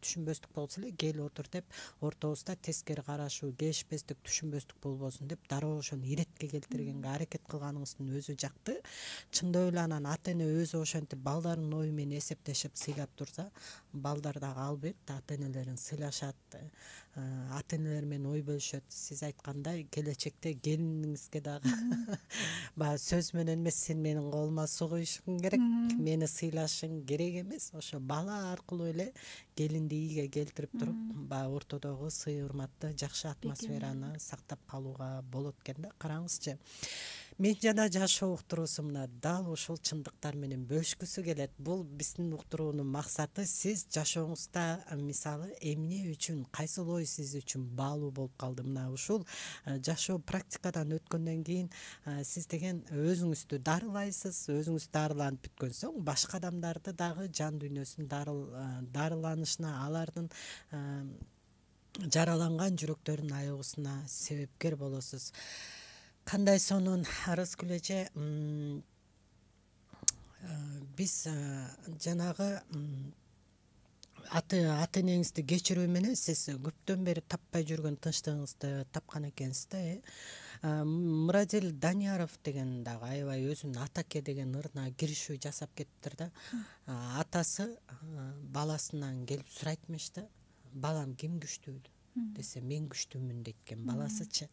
түшүнбөстүк болсо эле кел отур деп, ортобузда тескери карашуу, келишпестик, түшүнбөстүк болбосун деп дароо ошону иретке келтиргенге аракет кылганыңыздын өзү жакты. Чындап эле анан ата эне өзү ошентип балдарынын ою менен эсептешип сыйлап турса, балдар дагы албетте ата энелерин сыйлашат, ата энелер менен ой бөлүшөт. Сиз айткандай келечекте келиниңизге дагы баягы сөз менен эмес, сен менин колума суу куюшуң керек, мени сыйлашың керек эмес, ошо бала аркылуу эле келинди ийге келтирип туруп, баягы ортодогу сый урматты, жакшы атмосфераны сактап калууга болот экен да. Караңызчы, Мен жана жашоо уктуруусу мына дал ушул чындыктар менен бөлүшкүсү келет. Бул биздин уктуруунун максаты сиз жашооңузда мисалы эмне үчүн, кайсыл ой сиз үчүн баалуу болуп калды. Мына ушул жашоо практикадан өткөндөн кийин сиз деген өзүңүздү дарылайсыз. Өзүңүз дарыланып бүткөн соң башка адамдарды дагы жан дүйнөсүн дарыланышына, алардын жараланган жүрөктөрүнүн аягуусуна себепкер болосуз. Кандай сонун Арыскүл эже, биз жанагы ата энеңизди кечирүү менен сиз көптөн бери таппай жүргөн тынчтыгыңызды тапкан экенсиз да. Мурадил Данияров деген дагы аябай өзүнүн Атаке деген ырына киришүү жасап кетиптир да. Атасы баласынан келип сурайт эмеш да, балам ким күчтүү десе, мен күчтүүмүн дейт экен баласычы.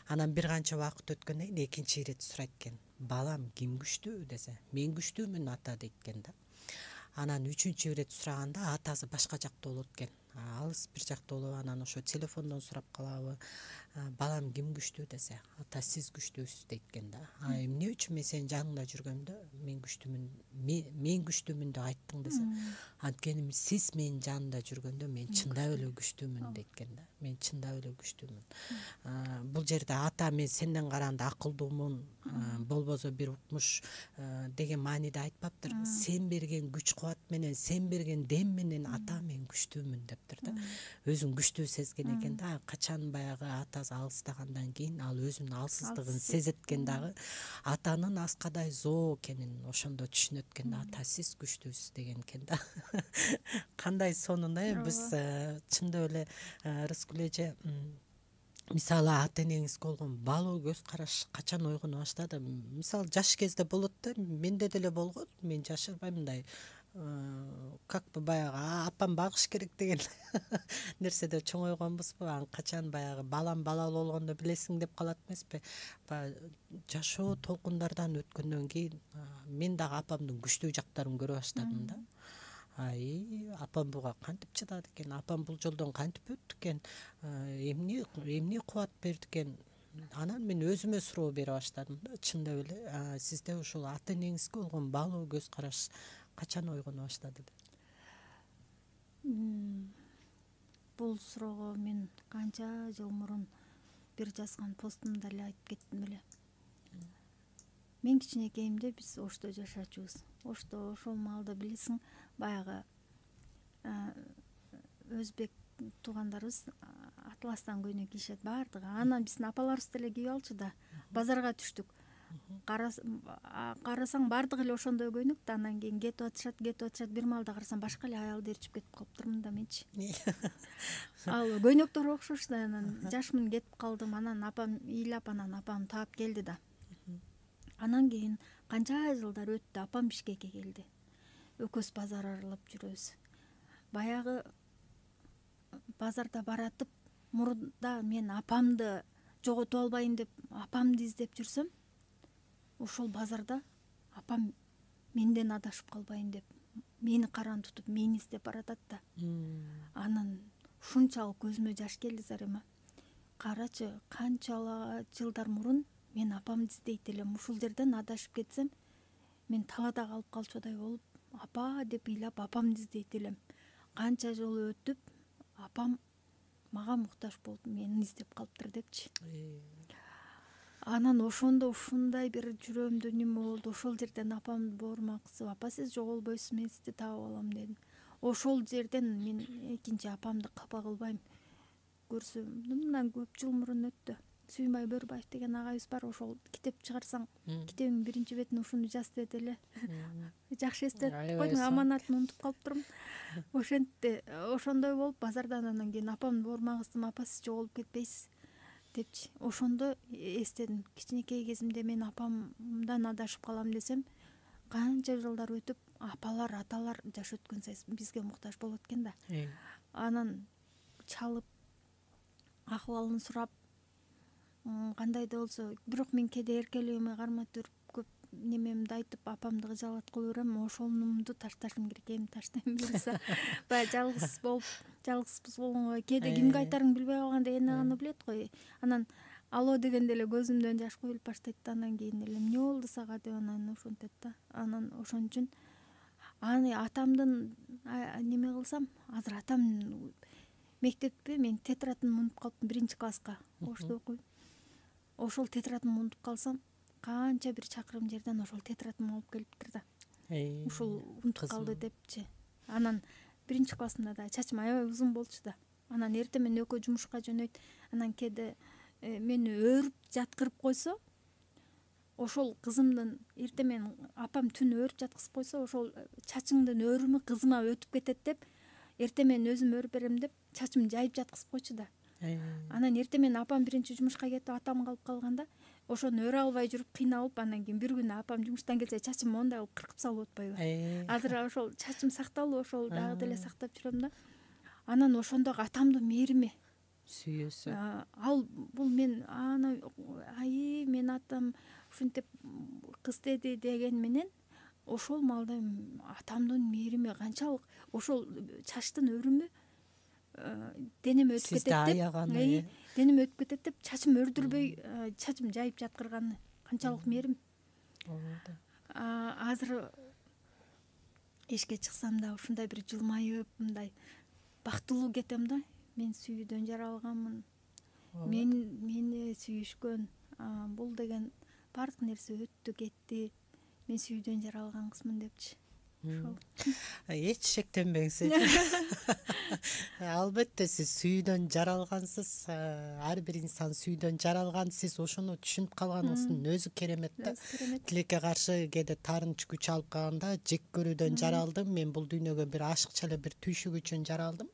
Анан бир канча убакыт өткөндөн кийин экинчи ирет сурайт экен, балам ким күчтүү десе, мен күчтүүмүн ата дейт экен да. Анан үчүнчү ирет сураганда атасы башка жакта болот экен, алыс бир жакта болуп, анан ошо телефондон сурап калабы, балам ким күчтүү десе, ата сиз күчтүүсүз дейт экен да. Эмне үчүн мен сенин жаныңда жүргөндө мен күчтүүмүн деп айттың десе, анткени сиз менин жанымда жүргөндө мен чындап эле күчтүүмүн дейт экен да. Мен чындап эле күчтүүмүн. Бул жерде ата мен сенден караганда акылдуумун, болбосо бир укмуш деген мааниде айтпаптыр. Сен берген күч кубат менен, сен берген дем менен ата мен күчтүүмүн дептир да. Өзүн күчтүү сезген экен да. Качан баягы атасы алыстагандан кийин ал өзүнүн алсыздыгын сезет экен дагы. Атанын аскадай зоо экенин ошондо түшүнөт экен да. Ата сиз күчтүүсүз деген экен да. Кандай сонун биз чындап эле Рыскүл эже, мисалы ата энеңизге болгон баалуу көз караш качан ойгоно баштады? Мисалы жаш кезде болот да, менде деле болгон, мен жашырбайм, мындай как бы баягы апам багыш керек деген нерседе чоңойгонбузбу. Анан качан баягы балам балалуу болгондо билесиң деп калат эмеспи? Баягы жашоо толкундардан өткөндөн кийин мен дагы апамдын күчтүү жактарын көрө баштадым да. Апам буга кантип чыдады экен, апам бул жолдон кантип өттү экен, эмне кубат берди экен. Анан мен өзүмө суроо бере баштадым да. Чындап эле сизде ушул ата энеңизге болгон баалуу көз караш качан ойгоно баштады? Бул суроого мен канча жыл мурун бир жазган постумда эле айтып кеттим эле. Мен кичинекейимде биз Ошто жашачубуз. Ошто ошол маалда билесиң, баягы өзбек туугандарыбыз атластан көйнөк кийишет баардыгы. Анан биздин апаларыбыз деле кийип алчу да. Базарга түштүк. Карасаң баардыгы эле ошондой көйнөк да. Анан кийин кетип атышат. Бир маалда карасам башка эле аялды ээрчип кетип калыптырмын да менчи. Ал көйнөктөр окшош да. Анан жашмын кетип калдым. Анан апам ыйлап, анан апам таап келди да. Анан кийин канча жылдар өттү, апам Бишкекке келди. Экөөбүз базар аралап жүрөбүз. Баягы базарда баратып, мурда мен апамды жоготуп албайын деп, апамды издеп жүрсөм, ошол базарда апам менден адашып калбайын деп, мени каран тутуп, мени издеп баратат да. Анан ушунчалык көзүмө жаш келди Зарема. Карачы, канчалык жылдар мурун мен апамды издейт элем. Ушул жерден адашып кетсем, мен талаада калып калчудай болуп, апа деп ыйлап апамды издейт элем. Канча жыл өтүп, апам мага муктаж болуп, мени издеп калыптыр депчи. Анан ошондо ушундай бир жүрөөмдө неме болду. Ошол жерден апамды боорумак кылып, апа сиз жоголбойсуз, мен сизди таап алам дедим. Ошол жерден мен экинчи апамды капа кылбайм. Көрсөм, мындан көп жыл мурун өттү. Сүйүнбай Бөрбаев деген агайыбыз бар, ошол китеп чыгарсаң, китебиң биринчи бетине ушуну жаз деди эле. Жакшы эстетип койдуң, аманатын унутуп калыптырмын. Ошентти, ошондой болуп базардан анан кийин апамды боорумак кылдым, апа сиз жоголуп кетпейсиз депчи. Ошондо эстедим, кичинекей кезимде мен апамдан адашып калам десем, канча жылдар өтүп, апалар, аталар жаш өткөн сайын бизге муктаж болот экен да. Анан чалып, акыбалын сурап, кандайда болсо, бирок мен кээде эркелигиме кармап туруп, көп немемди айтып, апамды кыжаалаткыла берем. Ошонумду ташташым керек, эми таштайм буюрса. Баягы жалгызбыз болгонго кээде кимге айтарыңды билбей калганда эне гана билет го. Анан алло дегенде эле көзүмдөн жаш куюлуп баштайт да, анан кийин эле эмне болду сага деп анан ошентет да. Анан ошон үчүн аны атамдын неме кылсам, азыр атам мектепте мен тетрадымды унутуп калыптым 1-класска Ошто окуйм. Ошол тетрадымды унутуп калсам, канча бир чакырым жерден ошол тетрадымды алып келиптир да. Ушул унутуп калды депчи. Анан 1-классымда да чачым аябай узун болчу да. Анан эртең менен экөө жумушка жөнөйт. Анан кээде мени өөрүп жаткырып койсо, ошол кызымдын эртең менен апам түн өөрүп жаткызып койсо, ошол чачыңдын өрүмү кызыма өтүп кетет деп, эртең менен өзүм өрүп берем деп чачымды жайып жаткызып койчу да. Анан эртең менен апам биринчи жумушка кетип, атам калып калганда, ошону өрө албай жүрүп кыйналып, анан кийин бир күнү апам жумуштан келсе чачым мондай кылып кыркып салып атпайбы. Азыр ошол чачым сакталды, ошол дагы деле сактап жүрөм да. Анан ошондогу атамдын мээрими, сүйүүсү. Ал бул мен мен атам ушинтип кыз деди деген менен ошол маалда атамдын мээрими канчалык, ошол чачтын өрүмү денеме өтүп кетет деп. Сизди аяганы. Денеме өтүп кетет деп чачым өрдүрбөй чачым жайып жаткырганы канчалык мээрим. Азыр эшикке чыксам да ушундай бир жылмайып, мындай бактылуу кетем да. Мен сүйүүдөн жаралганмын. Мени сүйүшкөн. Бул деген баардык нерсе өттү кетти. Мен сүйүүдөн жаралган кызмын депчи. Эч шектенбеңиз. Албетте сиз сүйүүдөн жаралгансыз. Ар бир инсан сүйүүдөн жаралган. Сиз ошону түшүнүп калганыңыздын өзү керемет да. Тилекке каршы кээде таарынч күч алып калганда жек көрүүдөн жаралдым. Мен бул дүйнөгө бир ашыкча эле бир түйшүк үчүн жаралдым.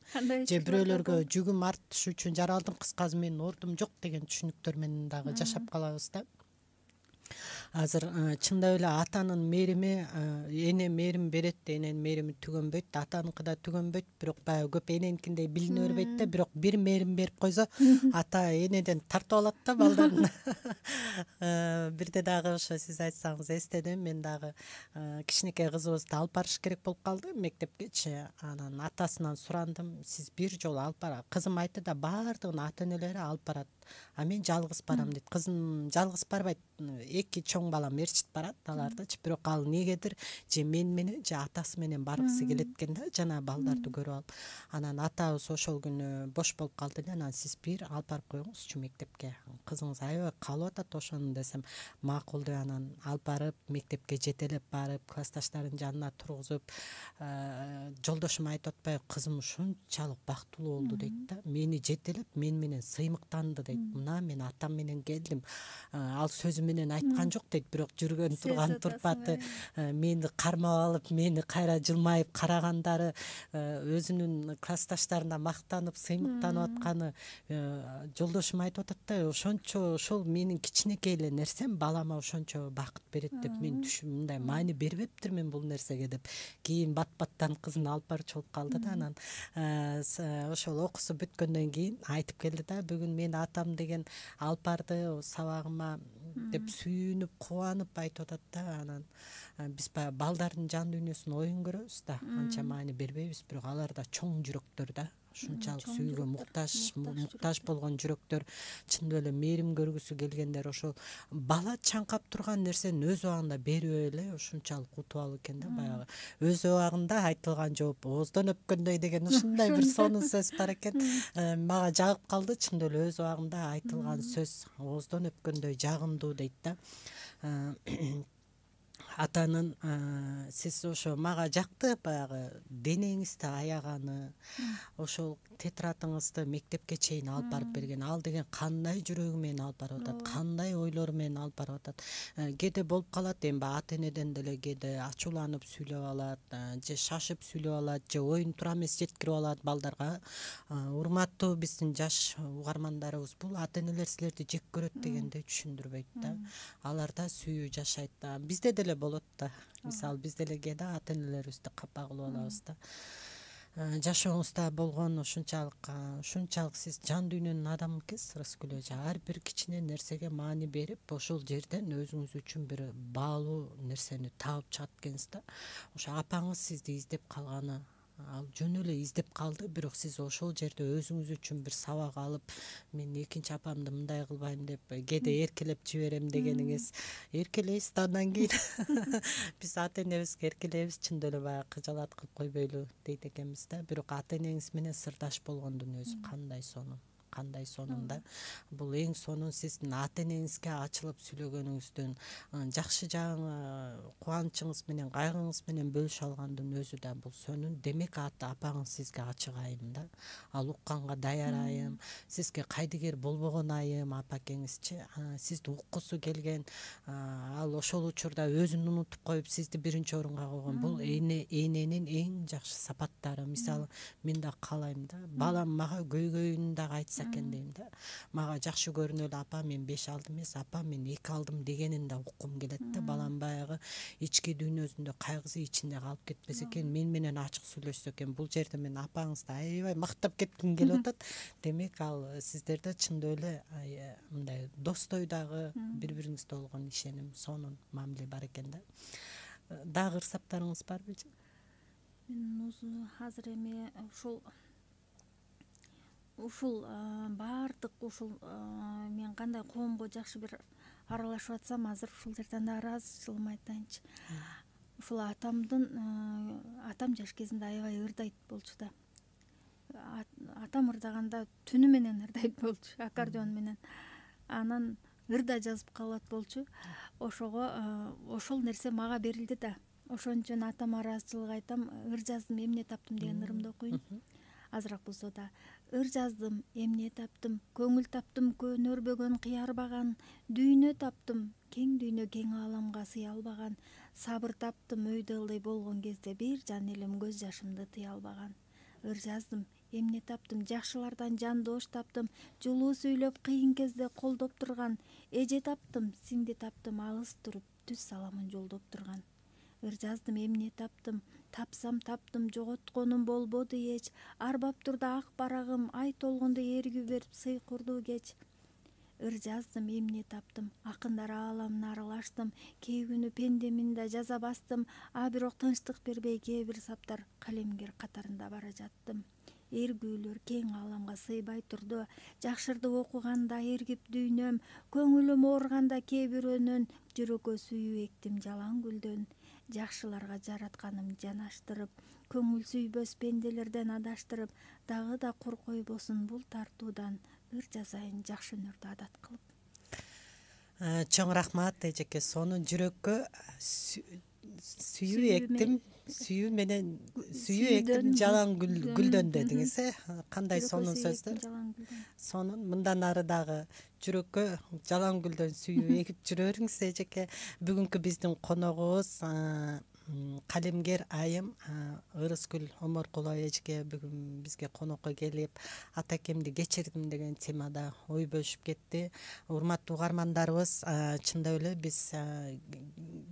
Же бирөөлөргө жүгүм артыш үчүн жаралдым. Кыскасы менин ордум жок деген түшүнүктөр менен дагы жашап калабыз да. Азыр чындап эле атанын мээрими, эне мээрим берет, эненин мээрими түгөнбөйт, атаныкы да түгөнбөйт, бирок баягы көп эненикиндей билине бербейт да, бирок бир мээрим берип койсо, ата энеден тартып алат да балдарын. Бирде дагы ошо сиз айтсаңыз эстедим, мен дагы кичинекей кызыбызды алып барыш керек болуп калды мектепкечи. Анан атасынан сурандым, сиз бир жолу алып барат. Кызым айтты да, баардыгын ата энелери алып барат. А мен жалгыз барам дейт. Кызым жалгыз барбайт. Эки чоң балам ээрчитип барат алардычы, бирок ал эмнегедир же мен менен же атасы менен баргысы келет экен да, жана балдарды көрүп алып. Анан атабыз ошол күнү бош болуп калды эле. Анан сиз бир алып барып коюңузчу мектепке. Кызыңыз аябай каалап атат ошону десем, макул деп анан алып барып мектепке жетелеп барып, классташтардын жанына тургузуп, жолдошум айтып атпайбы, кызым ушунчалык бактылуу болду дейт да. Мени жетелеп, мен менен сыймыктанды дейт. Мына мен атам менен келдим. Ал сөзү менен айткан жок дейт, бирок жүргөн турган турпаты, мени кармап алып, мени кайра жылмайып карагандары, өзүнүн классташтарына мактанып, сыймыктанып атканы, жолдошум айтып атат да, ошончо ошол менин кичинекей эле нерсем балама ошончо бакыт берет деп мен мындай маани бербептирмин бул нерсеге деп. Кийин бат-баттан кызын алып барчу болуп калды да. Анан ошол окуусу бүткөндөн кийин айтып келди да, бүгүн мен атам деген алып барды сабагыма деп сүйүнүп, кубанып айтып атат да. Анан биз баягы балдардын жан дүйнөсүн оюн көрөбүз да, анча маани бербейбиз, бирок алар да чоң жүрөктөр да. Ушунчалык сүйүүгө муктаж болгон жүрөктөр, чындап эле мээрим көргүсү келгендер, ошол бала чаңкап турган нерсени өз убагында берип эле ушунчалык утуп алуу экен да. Баягы өз убагында айтылган жооп ооздон өпкөндөй деген ушундай бир сонун сөз бар экен. Мага жагып калды, чындап эле өз убагында айтылган сөз ооздон өпкөндөй жагымдуу дейт да. Атанын сиз ошо мага жакты баягы денеңизди аяганы, ошол тетрадыңызды мектепке чейин алып барып берген. Ал деген кандай жүрөгү менен алып барып атат, кандай ойлору менен алып барып атат. Кээде болуп калат, эми ата энеден деле кээде ачууланып сүйлөп алат, же шашып сүйлөп алат, же оюн туура эмес жеткирип алат балдарга. Урматтуу биздин жаш угармандарыбыз, бул ата энелер силерди жек көрөт дегенди түшүндүрбөйт да. Алар да сүйүү жашайт да. Бизде деле болот да. Мисалы биз деле кээде ата энелерибизди капа кылып алабыз да. Жашооңузда болгон ушунчалык сиз жан дүйнөнүн адамы экенсиз, Рыскүл эже. Ар бир кичине нерсеге маани берип, ошол жерден өзүңүз үчүн бир баалуу нерсени таап чыгат экенсиз да. Ошо апаңыз сизди издеп калганы ал жөн эле издеп калды, бирок сиз ошол жерде өзүңүз үчүн бир сабак алып, мен экинчи апамды мындай кылбайм деп кээде эркелеп жиберем дегениңиз, эркелейсиз да андан кийин биз ата энебизге эркелейбиз, чындап эле баягы кыжаалат кылып койбойлу дейт экенбиз да. Бирок ата энеңиз менен сырдаш болгондун өзү кандай сонун да. Бул эң сонун сиздин ата энеңизге ачылып сүйлөгөнүңүздүн, жакшы жагың, кубанычыңыз менен кайгыңыз менен бөлүшө алгандын өзү да бул сонун. Демек апаңыз сизге ачык айым да, ал укканга даяр айым, сизге кайдыгер болбогон айым. Апакеңизчи сизди уккусу келген, ал ошол учурда өзүн унутуп коюп сизди биринчи орунга койгон. Бул эненин эң жакшы сапаттары. Мисалы мен да каалайм да, балам мага көйгөйүн дагы айтса экен дейм да. Мага жакшы көрүнөлү апа мен 5 алдым эмес, апа мен 2 алдым дегенин да уккум келет да. Балам баягы ички дүйнөсүндө кайгысы ичинде калып кетпесе экен, мен менен ачык сүйлөшсө экен. Бул жерде мен апаңызды аябай мактап кетким келип атат. Демек ал сиздерде чындап эле мындай достой дагы бири-бириңизге болгон ишеним, сонун мамиле бар экен да. Дагы ырсаптарыңыз барбы? Мен азыр эми ушул баардык ушул мен кандай коомго жакшы бир аралашып атсам, азыр ушул жерден да ыраазычылыгымды айтайынчы. Ушул атам жаш кезинде аябай ырдайт болчу да. Атам ырдаганда түнү менен ырдайт болчу, аккордеон менен. Анан ырда жазып калат болчу. Ошого ошол нерсе мага берилди да. Ошон үчүн атама ыраазычылык айтам. Ыр жаздым, эмне таптым деген ырымды окуйм. Азыраак болсо да. Ыр жаздым, эмне таптым, көңүл таптым, көн өрбөгөн кыярбаган, дүйнө таптым, кең дүйнө кең ааламга сыя албаган, сабыр таптым, өйдө ылдый болгон кезде бир жан элем көз жашымды тыя албаган. Ыр жаздым, эмне таптым, жакшылардан жандош таптым, жылуу сүйлөп кыйын кезде колдоп турган, эже таптым, сиңди таптым, алыс туруп түз саламын жолдоп турган. Ыр жаздым, эмне таптым, тапсам таптым, жоготконум болбоду эч, арбап турду ак барагым, ай толгондо эргүү берип сый курду кеч. Ыр жаздым, эмне таптым, акындар ааламына аралаштым, кээ күнү пендемин да жаза бастым, бирок тынчтык бербей кээ бир саптар калемгер катарында бара жаттым. Эргүүлөр кең ааламга сыйбай турду, жакшырды окуганда эргип дүйнөм, көңүлүм ооруганда кээ бирөөнөн, жүрөккө сүйүү эктим жалаң гүлдөн. Жакшыларга жаратканым жанаштырып, көңүл сүйбөс пенделерден адаштырып, дагы да кур койбосун бул тартуудан, ыр жазайын жакшы өнөрдү адат кылып. Чоң рахмат эжеке, сонун. Жүрөккө сүйүү эктим, сүйүү эктим жалаң гүлдөн дедиңиз, кандай сонун сөздөр. Сонун. Мындан ары дагы жүрөккө жалаң гүлдөн сүйүү эгип жүрө бериңиз эжеке. Бүгүнкү биздин коногубуз калемгер айым Ырыскүл Оморкулова эжеке бүгүн бизге конокко келип, атакемди кечирдим деген темада ой бөлүшүп кетти. Урматтуу угармандарыбыз, чындап эле биз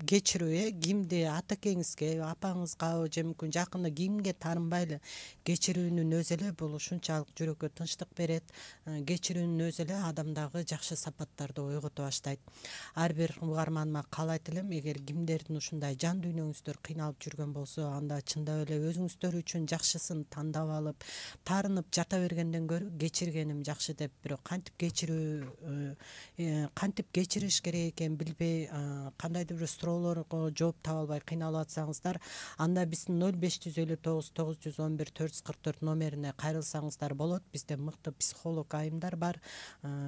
кечирүү кимди атакеңизге, апаңызга же мүмкүн жакында кимге таарынбай эле кечирүүнүн өзү эле бул ушунчалык жүрөккө тынчтык берет. Кечирүүнүн өзү эле адамдагы жакшы сапаттарды ойгото баштайт. Ар бир угарманыма каалайт элем, эгер кимдердин ушундай жан дүйнөңүздөр кыйналып жүргөн болсо, анда чындап эле өзүңүздөр үчүн жакшысын тандап алып, таарынып жата бергенден көрө кечиргеним жакшы деп, бирок кантип кечириш керек экенин билбей, кандайдыр бир суроолорго жооп таба албай кыйналып атсаңыздар, анда биздин 0559 911 444 номерине кайрылсаңыздар болот. Бизде мыкты психолог айымдар бар.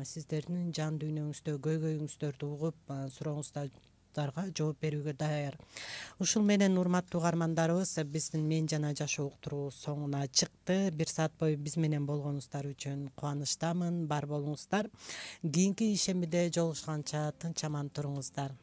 Сиздердин жан дүйнөңүздө көйгөйүңүздөрдү угуп, сурооңуздарга жооп берүүгө даяр. Ушул менен урматтуу угармандарыбыз, биздин Мен жана жашоо уктуруу соңуна чыкты. 1 саат бою биз менен болгонуңуздар үчүн кубанычтамын. Бар болуңуздар. Кийинки ишембиде жолугушканча тынч аман туруңуздар.